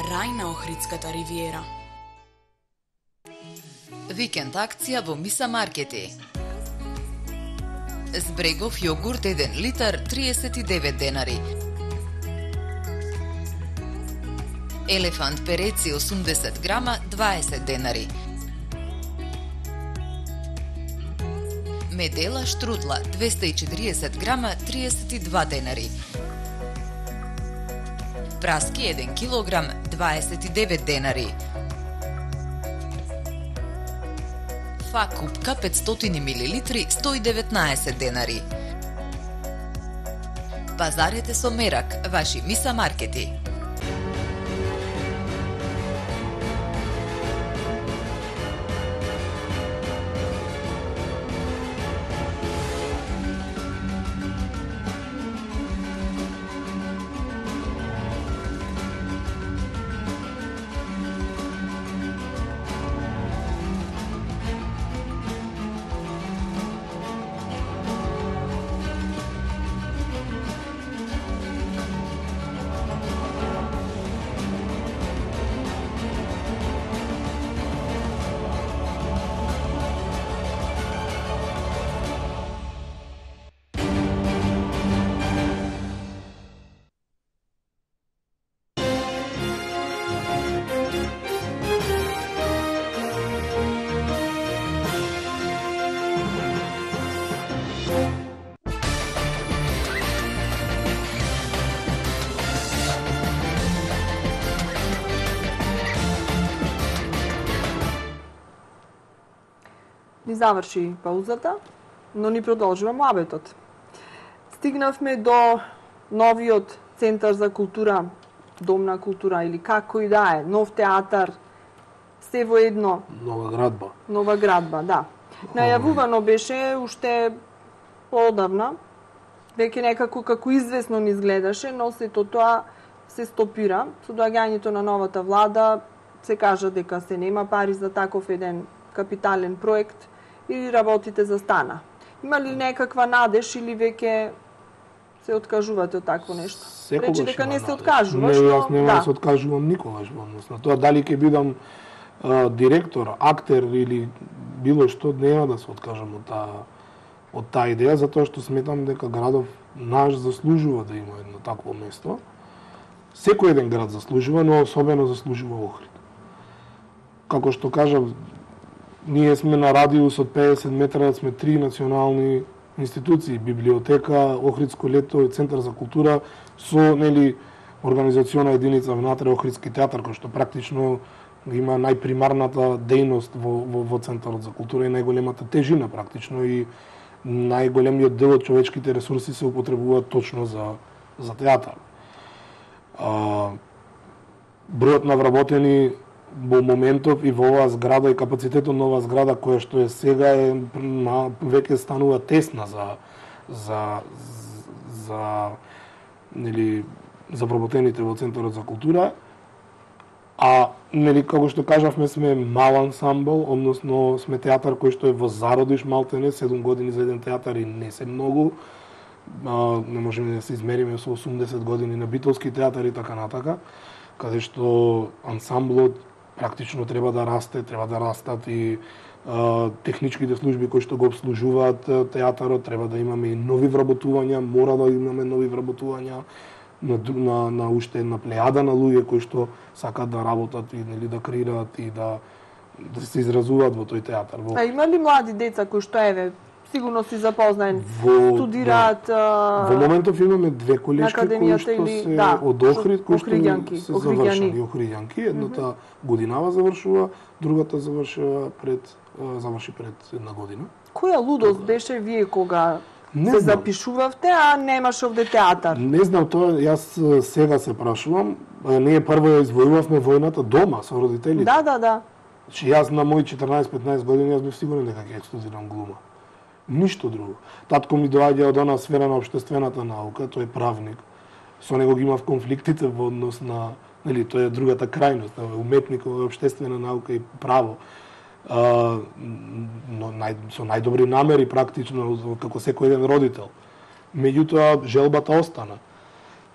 рај на Охридската ривиера. Викенд акција во Миса Маркети. Збрегов јогурт еден литар триесет и девет денари. Елефант переци осумдесет грама дваесет денари. Медела штрудла двеста и четириесет грама триесет и два денари. Праски еден килограм дваесет и девет денари. Фа купка петстотини милилитри сто и деветнаесет денари. Пазарете со мерак, ваши Миса Маркети. Ни заврши паузата, но ни продолжува муабетот. Стигнавме до новиот Центар за култура, Дом на култура или како и да е, нов театар, се во едно. Нова градба. Нова градба, да. Најавувано беше уште поодавна, веќе некако како известно ни изгледаше, но сето тоа се стопира. Со доаѓањето на новата влада се кажа дека се нема пари за таков еден капитален проект и работите застана. Има ли некаква надеж или веќе се откажувате од такво нешто? Секогаш Рече дека не се има откажуваш, Не, но јас нема да. да се откажувам никогаш во однос на тоа дали ќе бидам а, директор, актер или било што, нема да се откажам од таа од таа идеја, затоа што сметам дека градов наш заслужува да има едно такво место. Секој еден град заслужува, но особено заслужува Охрид. Како што кажав, ние сме на радиус од педесет метра, сме три национални институции, библиотека, Охридско лето, Центар за култура, со нели организациона единица внатре Охридски театар, кој што практично има најпримарната дејност во, во, во Центарот за култура и најголемата тежина практично и најголемиот дел од човечките ресурси се употребуваат точно за, за театар. А, бројот на вработени во моментов и во оваа зграда и капацитетот на оваа зграда која што е сега е на, веќе станува тесна за за за нели за вработените во Центарот за култура. А нели како што кажавме сме мал ансамбл, односно сме театар кој што е во зародиш малтене, седум години за еден театар и не се многу. А, не можеме да се измериме со осумдесет години на битолски театар и така натака, каде што ансамблот практично треба да расте, треба да растат и а, техничките служби кои што го обслужуваат театарот, треба да имаме и нови вработувања, мора да имаме нови вработувања на, на, на уште една плејада на луѓе кои што сакаат да работат и нели да креираат и да да се изразуваат во тој театар. Во... А има ли млади деца кои што еве сигурно си запознаен, во, студираат да. Во моментов имаме две колешки кои што или... се да, од Охрид, кои што се Охридјани. завршени, Охридјанки. Едната mm -hmm. годинава завршува, другата завршува пред заврши пред една година. Која лудост беше вие кога не се знам. запишувавте, а немаше овде театар? Не знам тоа, јас сега се прашувам. Ние прво ја извојувавме војната дома со родителите. Да, да, да. Че јас на мои четрнаесет-петнаесет години јас бев сигурен дека ќе студирам глума. Ништо друго. Татко ми доаѓа од она сфера на општествената наука, тој е правник. Со него ги имав конфликтите во однос на, нели, тоа е другата крајност, уметник во општествена наука и право. А, но нај, со најдобри намери практично како секој еден родител. Меѓутоа желбата остана.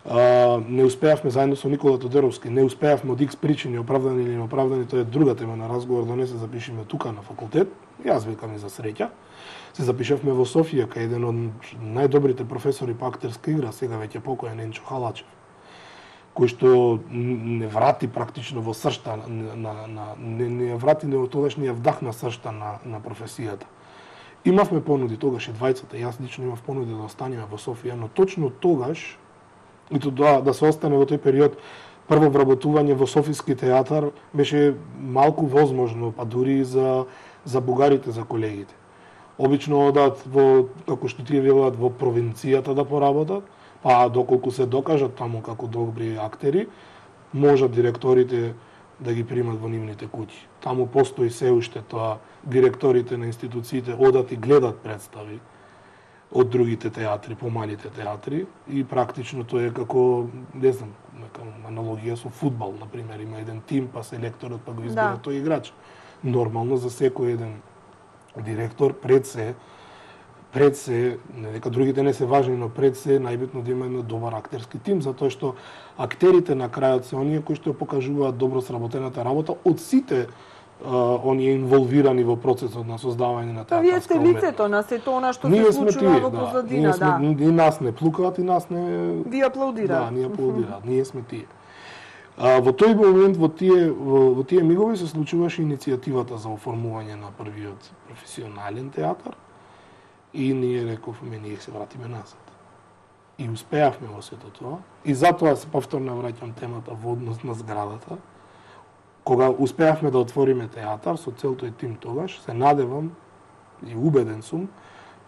А, не успеавме заедно со Никола Тодоровски, не успеавме од икс причини, оправдани или неоправдани, тоа е друга тема на разговор, да не се запишеме тука на факултет. Јас викам и за среќа. Се запишавме во Софија кај еден од најдобрите професори по актерска игра, сега веќе покоен Енчо Халачев, кој што не врати практично во сршта на, на, на не, не врати, не тогаш не ја вдахна сршта на, на професијата. Имавме понуди тогаш и двајцата, јас лично имав понуди да останеме во Софија, но точно тогаш и тоа да се остане во тој период, прво вработување во Софиски театар беше малку возможно, па дури и за за бугарите, за колегите. Обично одат во, како што тие велат, во провинцијата да поработат, па доколку се докажат таму како добри актери, можат директорите да ги примат во нивните куќи. Таму постои се уште тоа, директорите на институциите одат и гледат представи од другите театри, помалите театри, и практично тоа е како, не знам, нека аналогија со фудбал, например, има еден тим, па селекторот па го избира да. тој играч. Нормално за секој еден директор пред се пред се, не дека другите не се важни, но пред се најбитно да има еден добар актерски тим, затоа што актерите на крајот се оние кои што покажуваат добро сработената работа од сите uh, оние инволвирани во процесот на создавање на театарска уметност. Вие сте лицето на сето она што се случува во позадина, да. Ние сме, и нас не плукаат, и нас не... Ви аплаудираат. Да, ние аплаудираат, ние сме тие. А, во тој момент, во тие, во, во тие мигови се случуваше иницијативата за оформување на првиот професионален театар и ние рековме, ние се вратиме назад. И успеавме во сето тоа. И затоа се повторно враќам темата во однос на зградата. Кога успеавме да отвориме театар со цел тој тим тогаш, се надевам и убеден сум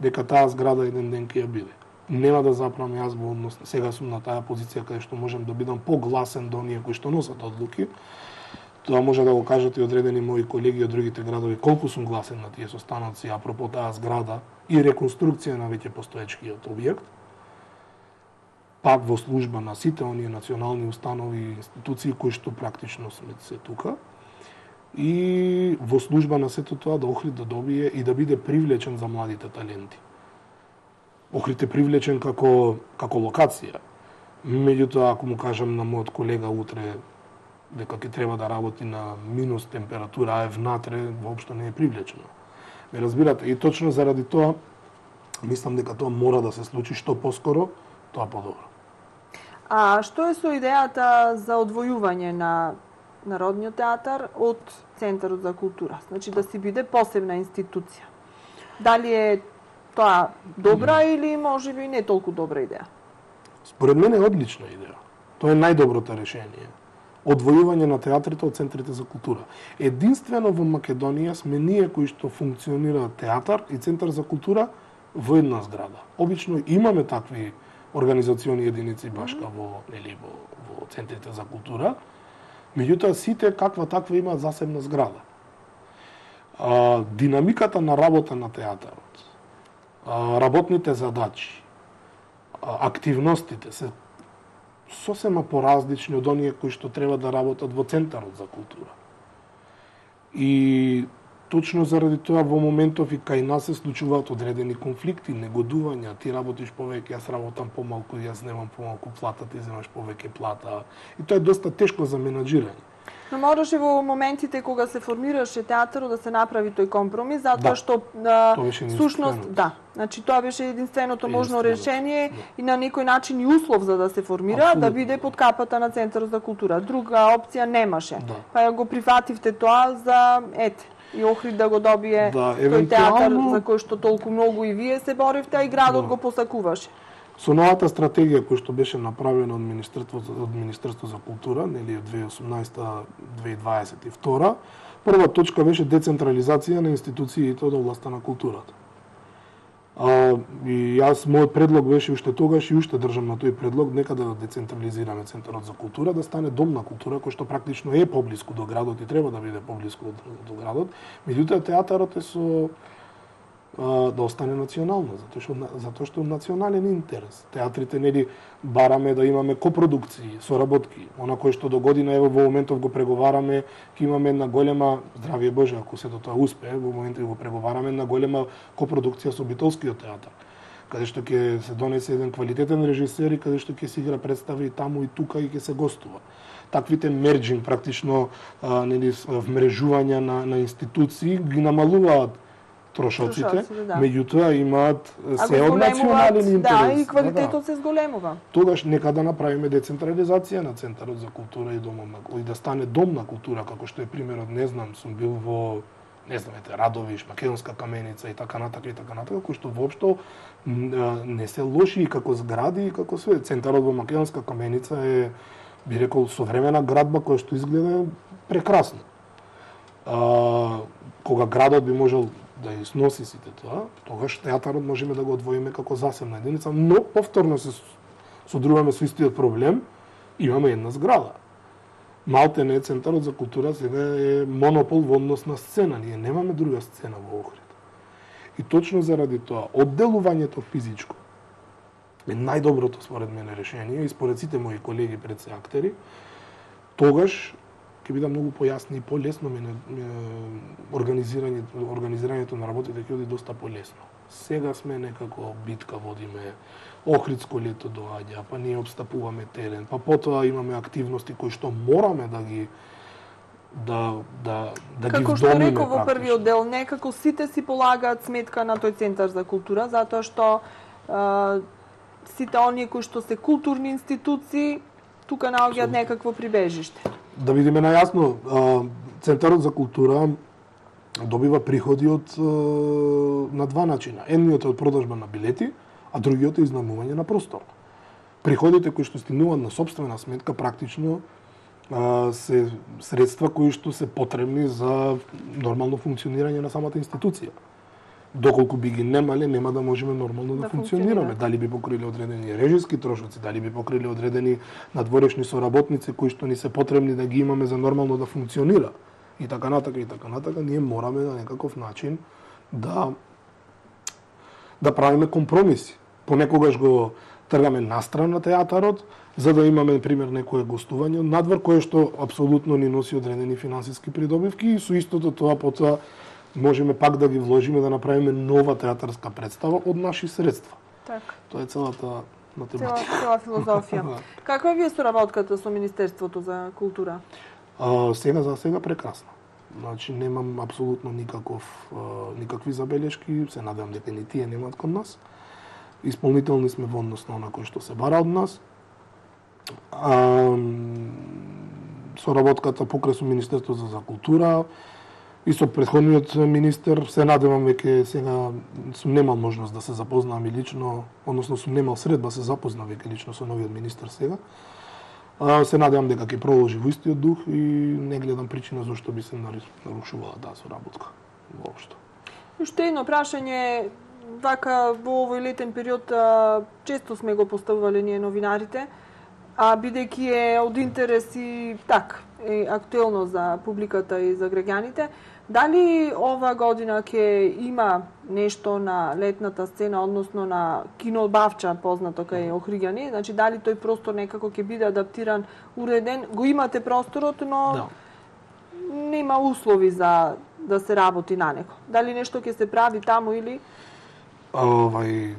дека таа зграда еден ден ќе ја биде. Нема да запрам јас во однос, сега сум на таа позиција каде што можам да бидам погласен до оние кои што носат одлуки. Тоа може да го кажат и одредени мои колеги од другите градови, колку сум гласен на тие состаноци апропо таа зграда и реконструкција на веќе постоечкиот објект. Пак во служба на сите оние национални установи и институции кои што практично сме се тука. И во служба на сето тоа да Охрид да добие и да биде привлечен за младите таленти. Охрид е привлечен како како локација. Меѓутоа, ако му кажам на мојот колега утре дека ќе треба да работи на минус температура, а е внатре, воопшто не е привлечено. Ме разбирате? И точно заради тоа, мислам дека тоа мора да се случи што поскоро, тоа подобро. А што е со идејата за одвојување на Народниот театар од Центарот за култура? Значи да си биде посебна институција. Дали е тоа добра mm. или можеби не толку добра идеја? Според мене е одлична идеја. Тоа е најдоброто решение. Одвојување на театрите од центрите за култура. Единствено во Македонија сме ние кои што функционира театар и центар за култура во една зграда. Обично имаме такви организациони единици башка во, нели, во, во центрите за култура, меѓутоа сите каква таква имаат засебна зграда. А, динамиката на работа на театарот, а, работните задачи, а, активностите се сосема поразлични од оние кои што треба да работат во Центарот за култура. И точно заради тоа во моментов и кај нас се случуваат одредени конфликти, негодувања, ти работиш повеќе, јас работам помалку, јас немам помалку плата, ти земаш повеќе плата. И тоа е доста тешко за менаџирање. Но мораше во моментите кога се формираше театарот да се направи тој компромис, затоа Да. што а, Тоа беше сушност, да, значи тоа беше единственото можно решение да. и на некој начин и услов за да се формира, Абсолютно. да биде под капата на Центарот за култура. Друга опција немаше. Да. Па ја го прифативте тоа за ете и Охрид да го добие Да, тој театар евентуално- за кој што толку многу и вие се боривте, а и градот Да. го посакуваше. Со новата стратегија која што беше направена од Министерството од Министерството за култура, нели од две илјади и осумнаесета до две илјади дваесет и втора, прва точка беше децентрализација на институциите од областта на културата. А, и јас мојот предлог беше уште тогаш и уште држам на тој предлог, нека да децентрализираме Центарот за култура, да стане дом на култура кој што практично е поблиску до градот и треба да биде поблиску до, до градот. Меѓутоа театарот е со а, да остане национално, затоа што затоа што национален интерес. Театрите нели бараме да имаме копродукции, соработки. Она кој што до година ево во моментов го преговараме, ќе имаме една голема, здравје Боже, ако сето тоа успее, во моментов го преговараме една голема копродукција со Битолскиот театар, каде што ќе се донесе еден квалитетен режисер и каде што ќе се игра представи и таму и тука и ќе се гостува. Таквите мерџинг, практично а, нели вмрежувања на, на институции ги намалуваат трошоците, Трошоците, да. меѓутоа имаат А се го од национален зголемуваат, интерес. да, и квалитетот Да, да. се зголемува. Тогаш нека да направиме децентрализација на Центарот за култура и домот на и да стане дом на култура, како што е примерот, не знам, сум бил во не знам, ете, Радовиш, Македонска каменица и така натака и така натака, кои што воопшто м, не се лоши и како згради и како све. Центарот во Македонска каменица е, би рекол, современа градба која што изгледа прекрасно. А, кога градот би можел да ја сноси сите тоа, тогаш театарот можеме да го одвоиме како засебна единица, но повторно се содруваме со истиот проблем, имаме една зграда. Малте не Центарот за култура сега е монопол во однос на сцена, ние немаме друга сцена во Охрид. И точно заради тоа, одделувањето физичко е најдоброто според мене решение и според сите мои колеги пред се актери, тогаш ќе биде многу појасно и полесно мене организирањето организирањето на работите ќе биде доста полесно. Сега сме некако битка водиме, Охридско лето доаѓа, па ние обстапуваме терен, па потоа имаме активности кои што мораме да ги да да да Како ги што вдомиме реков во практично. првиот дел, некако сите си полагаат сметка на тој Центар за култура, затоа што а, сите оние кои што се културни институции, тука наоѓаат некакво прибежиште. Да видиме најасно, а, Центарот за култура добива приходи од а, на два начина. Едниот е од продажба на билети, а другиот е изнаймување на простор. Приходите кои што стигнуваат на сопствена сметка практично а, се средства кои што се потребни за нормално функционирање на самата институција. Доколку би ги немале, нема да можеме нормално да, Да функционираме. функционира. Дали би покрили одредени режиски трошоци, дали би покрили одредени надворешни соработници кои што ни се потребни да ги имаме за нормално да функционира. И така натака, и така натака, ние мораме на некаков начин да да правиме компромиси. Понекогаш го тргаме настрана театарот, за да имаме, пример, некое гостување надвор, кое што апсолутно ни носи одредени финансиски придобивки и со истото тоа потоа можеме пак да ги вложиме да направиме нова театарска представа од наши средства. Така. Тоа е целата математика. Цела, цела филозофија. Каква ви е соработката со Министерството за култура? А, сега за сега прекрасно. Значи немам апсолутно никаков никакви забелешки, се надевам дека ни тие немаат кон нас. Исполнителни сме во однос на она кој што се бара од нас. А, соработката покрај со Министерството за култура и со претходниот министер се надевам веќе сега сум немал можност да се запознам и лично, односно сум немал средба да се запознам веќе лично со новиот министер сега. А, се надевам дека ќе продолжи во истиот дух и не гледам причина зашто би се нарушувала таа соработка воопшто. Уште едно прашање, вака во овој летен период а, често сме го поставувале ние новинарите, а бидејќи е од интерес и так, е актуелно за публиката и за граѓаните, дали ова година ќе има нешто на летната сцена, односно на кино Бавча, познато кај Охриѓани, значи дали тој простор некако ќе биде адаптиран, уреден, го имате просторот, но да. Нема услови за да се работи на него. Дали нешто ќе се прави таму или? Овај,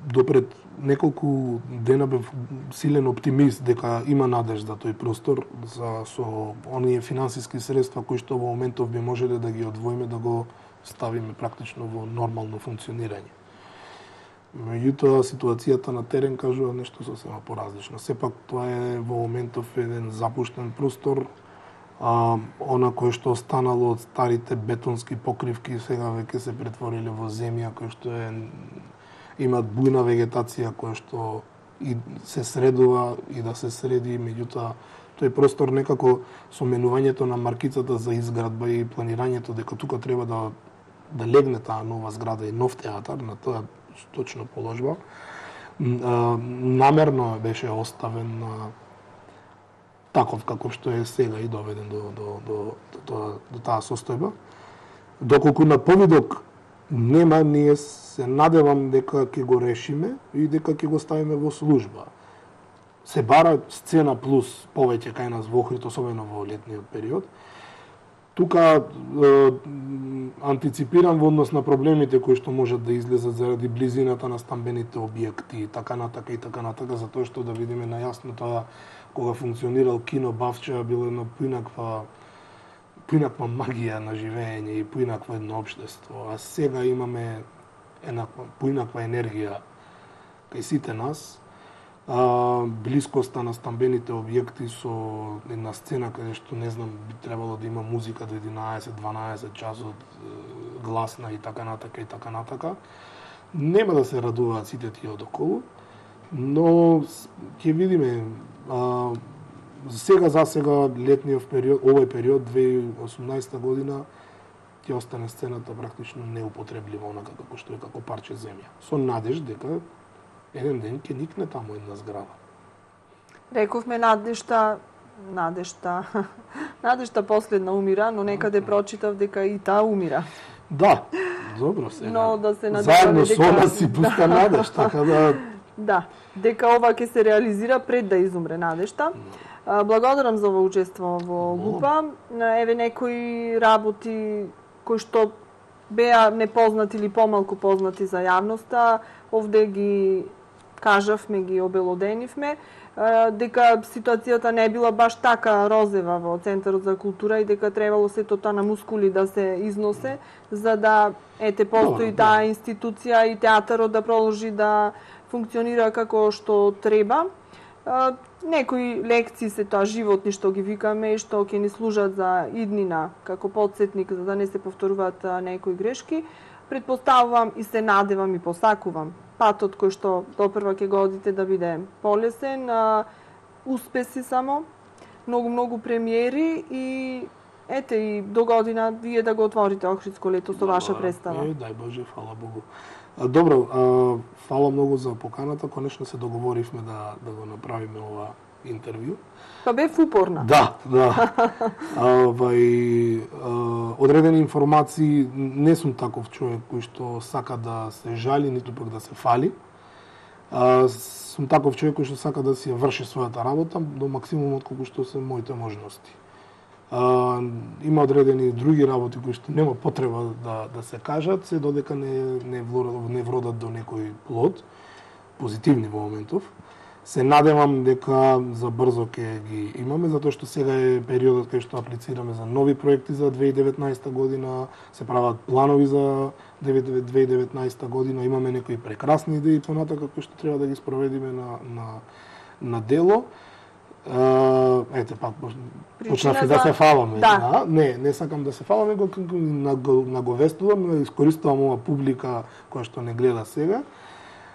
допред неколку дена бев силен оптимист дека има надежда тој простор за со оние финансиски средства кои што во моментов би можеле да ги одвоиме да го ставиме практично во нормално функционирање. Меѓутоа ситуацијата на терен кажува нешто сосема поразлично. Сепак тоа е во моментов еден запуштен простор, а, она кое што останало од старите бетонски покривки сега веќе се претвориле во земја која што е имаат бујна вегетација која што и се средува и да се среди, меѓутоа тој простор некако со менувањето на маркицата за изградба и планирањето дека тука треба да да легне таа нова зграда и нов театар на тоа точно положба, намерно беше оставен таков како што е сега и доведен до до до до, до, до таа состојба. Доколку на повидок нема, ние се надевам дека ќе го решиме и дека ќе го ставиме во служба. Се бара сцена плюс повеќе кај нас во Охрид, особено во летниот период. Тука е, антиципирам во однос на проблемите кои што можат да излезат заради близината на стамбените објекти, така натака и така натака, затоа што да видиме најасно тоа кога функционирал кино Бавча било едно поинаква поинаква магија на живење и поинакво едно општество, а сега имаме еднаква поинаква енергија кај сите нас. А, блискоста на стамбените објекти со една сцена каде што не знам би требало да има музика до единаесет-дванаесет часот, гласна и така натака и така натака. Нема да се радуваат сите тие одоколу, но ќе видиме. А, сега за сега летниот период, овој период две илјади и осумнаесета година ќе остане сцената практично неупотреблива онака како што е како парче земја. Со надеж дека еден ден ќе никне таму една зграда. Рековме надежта, надежта, надежта последна умира, но некаде прочитав дека и таа умира. Да, добро сега. Но да се надеваме заедно дека... со нас си пуска надеж, така да... Да, дека ова ќе се реализира пред да изумре надежта. Благодарам за ова учество во ГУПА. Еве некои работи кои што беа непознати или помалку познати за јавноста, овде ги кажавме, ги обелоденивме, дека ситуацијата не била баш така розева во Центарот за култура и дека требало сето тоа на мускули да се износе, за да ете постои no, таа институција и театарот да продолжи да функционира како што треба. Некои лекции се тоа животни што ги викаме и што ќе ни служат за иднина како потсетник за да не се повторуваат некои грешки. Предпоставувам и се надевам и посакувам патот кој што допрва ќе го одите да биде полесен, а, успеси само, многу многу премиери и ете и до година вие да го отворите Охридско лето со ваша представа. Е, дај Боже, фала Богу. А, добро, а, фала многу за поканата, конечно се договоривме да да го направиме ова интервју. Па бев упорна. Да, да. Вај, одредени информации, не сум таков човек кој што сака да се жали, ниту пак да се фали. А, сум таков човек кој што сака да си ја врши својата работа до максимумот колку што се моите можности. А, има одредени други работи кои што нема потреба да да се кажат, се додека не не вродат, не вродат до некој плод, позитивни во моментов. Се надевам дека за брзо ќе ги имаме, затоа што сега е периодот кај што аплицираме за нови проекти за две илјади и деветнаесета година, се прават планови за две илјади и деветнаесета година, имаме некои прекрасни идеи понатака кои што треба да ги спроведиме на на на дело. Uh, ете, пак, почнав и да се фаламе. Да. Да. Не, не сакам да се фаламе, го наговестувам, искористувам ова публика која што не гледа сега.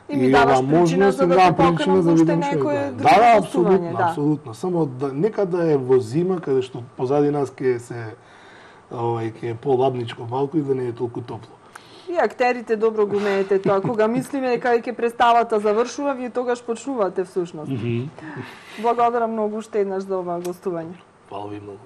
И ми даваш причина за да те поканам за уште некој друго Да, да, гостување, апсолутно, да. апсолутно. Само да, нека да е во зима, каде што позади нас ќе се овај ќе е полабничко малку и да не е толку топло. И актерите добро го умеете тоа. Кога мислиме дека веќе представата завршува, вие тогаш почнувате всушност. Mm -hmm. Благодарам многу уште еднаш за ова гостување. Фала ви многу.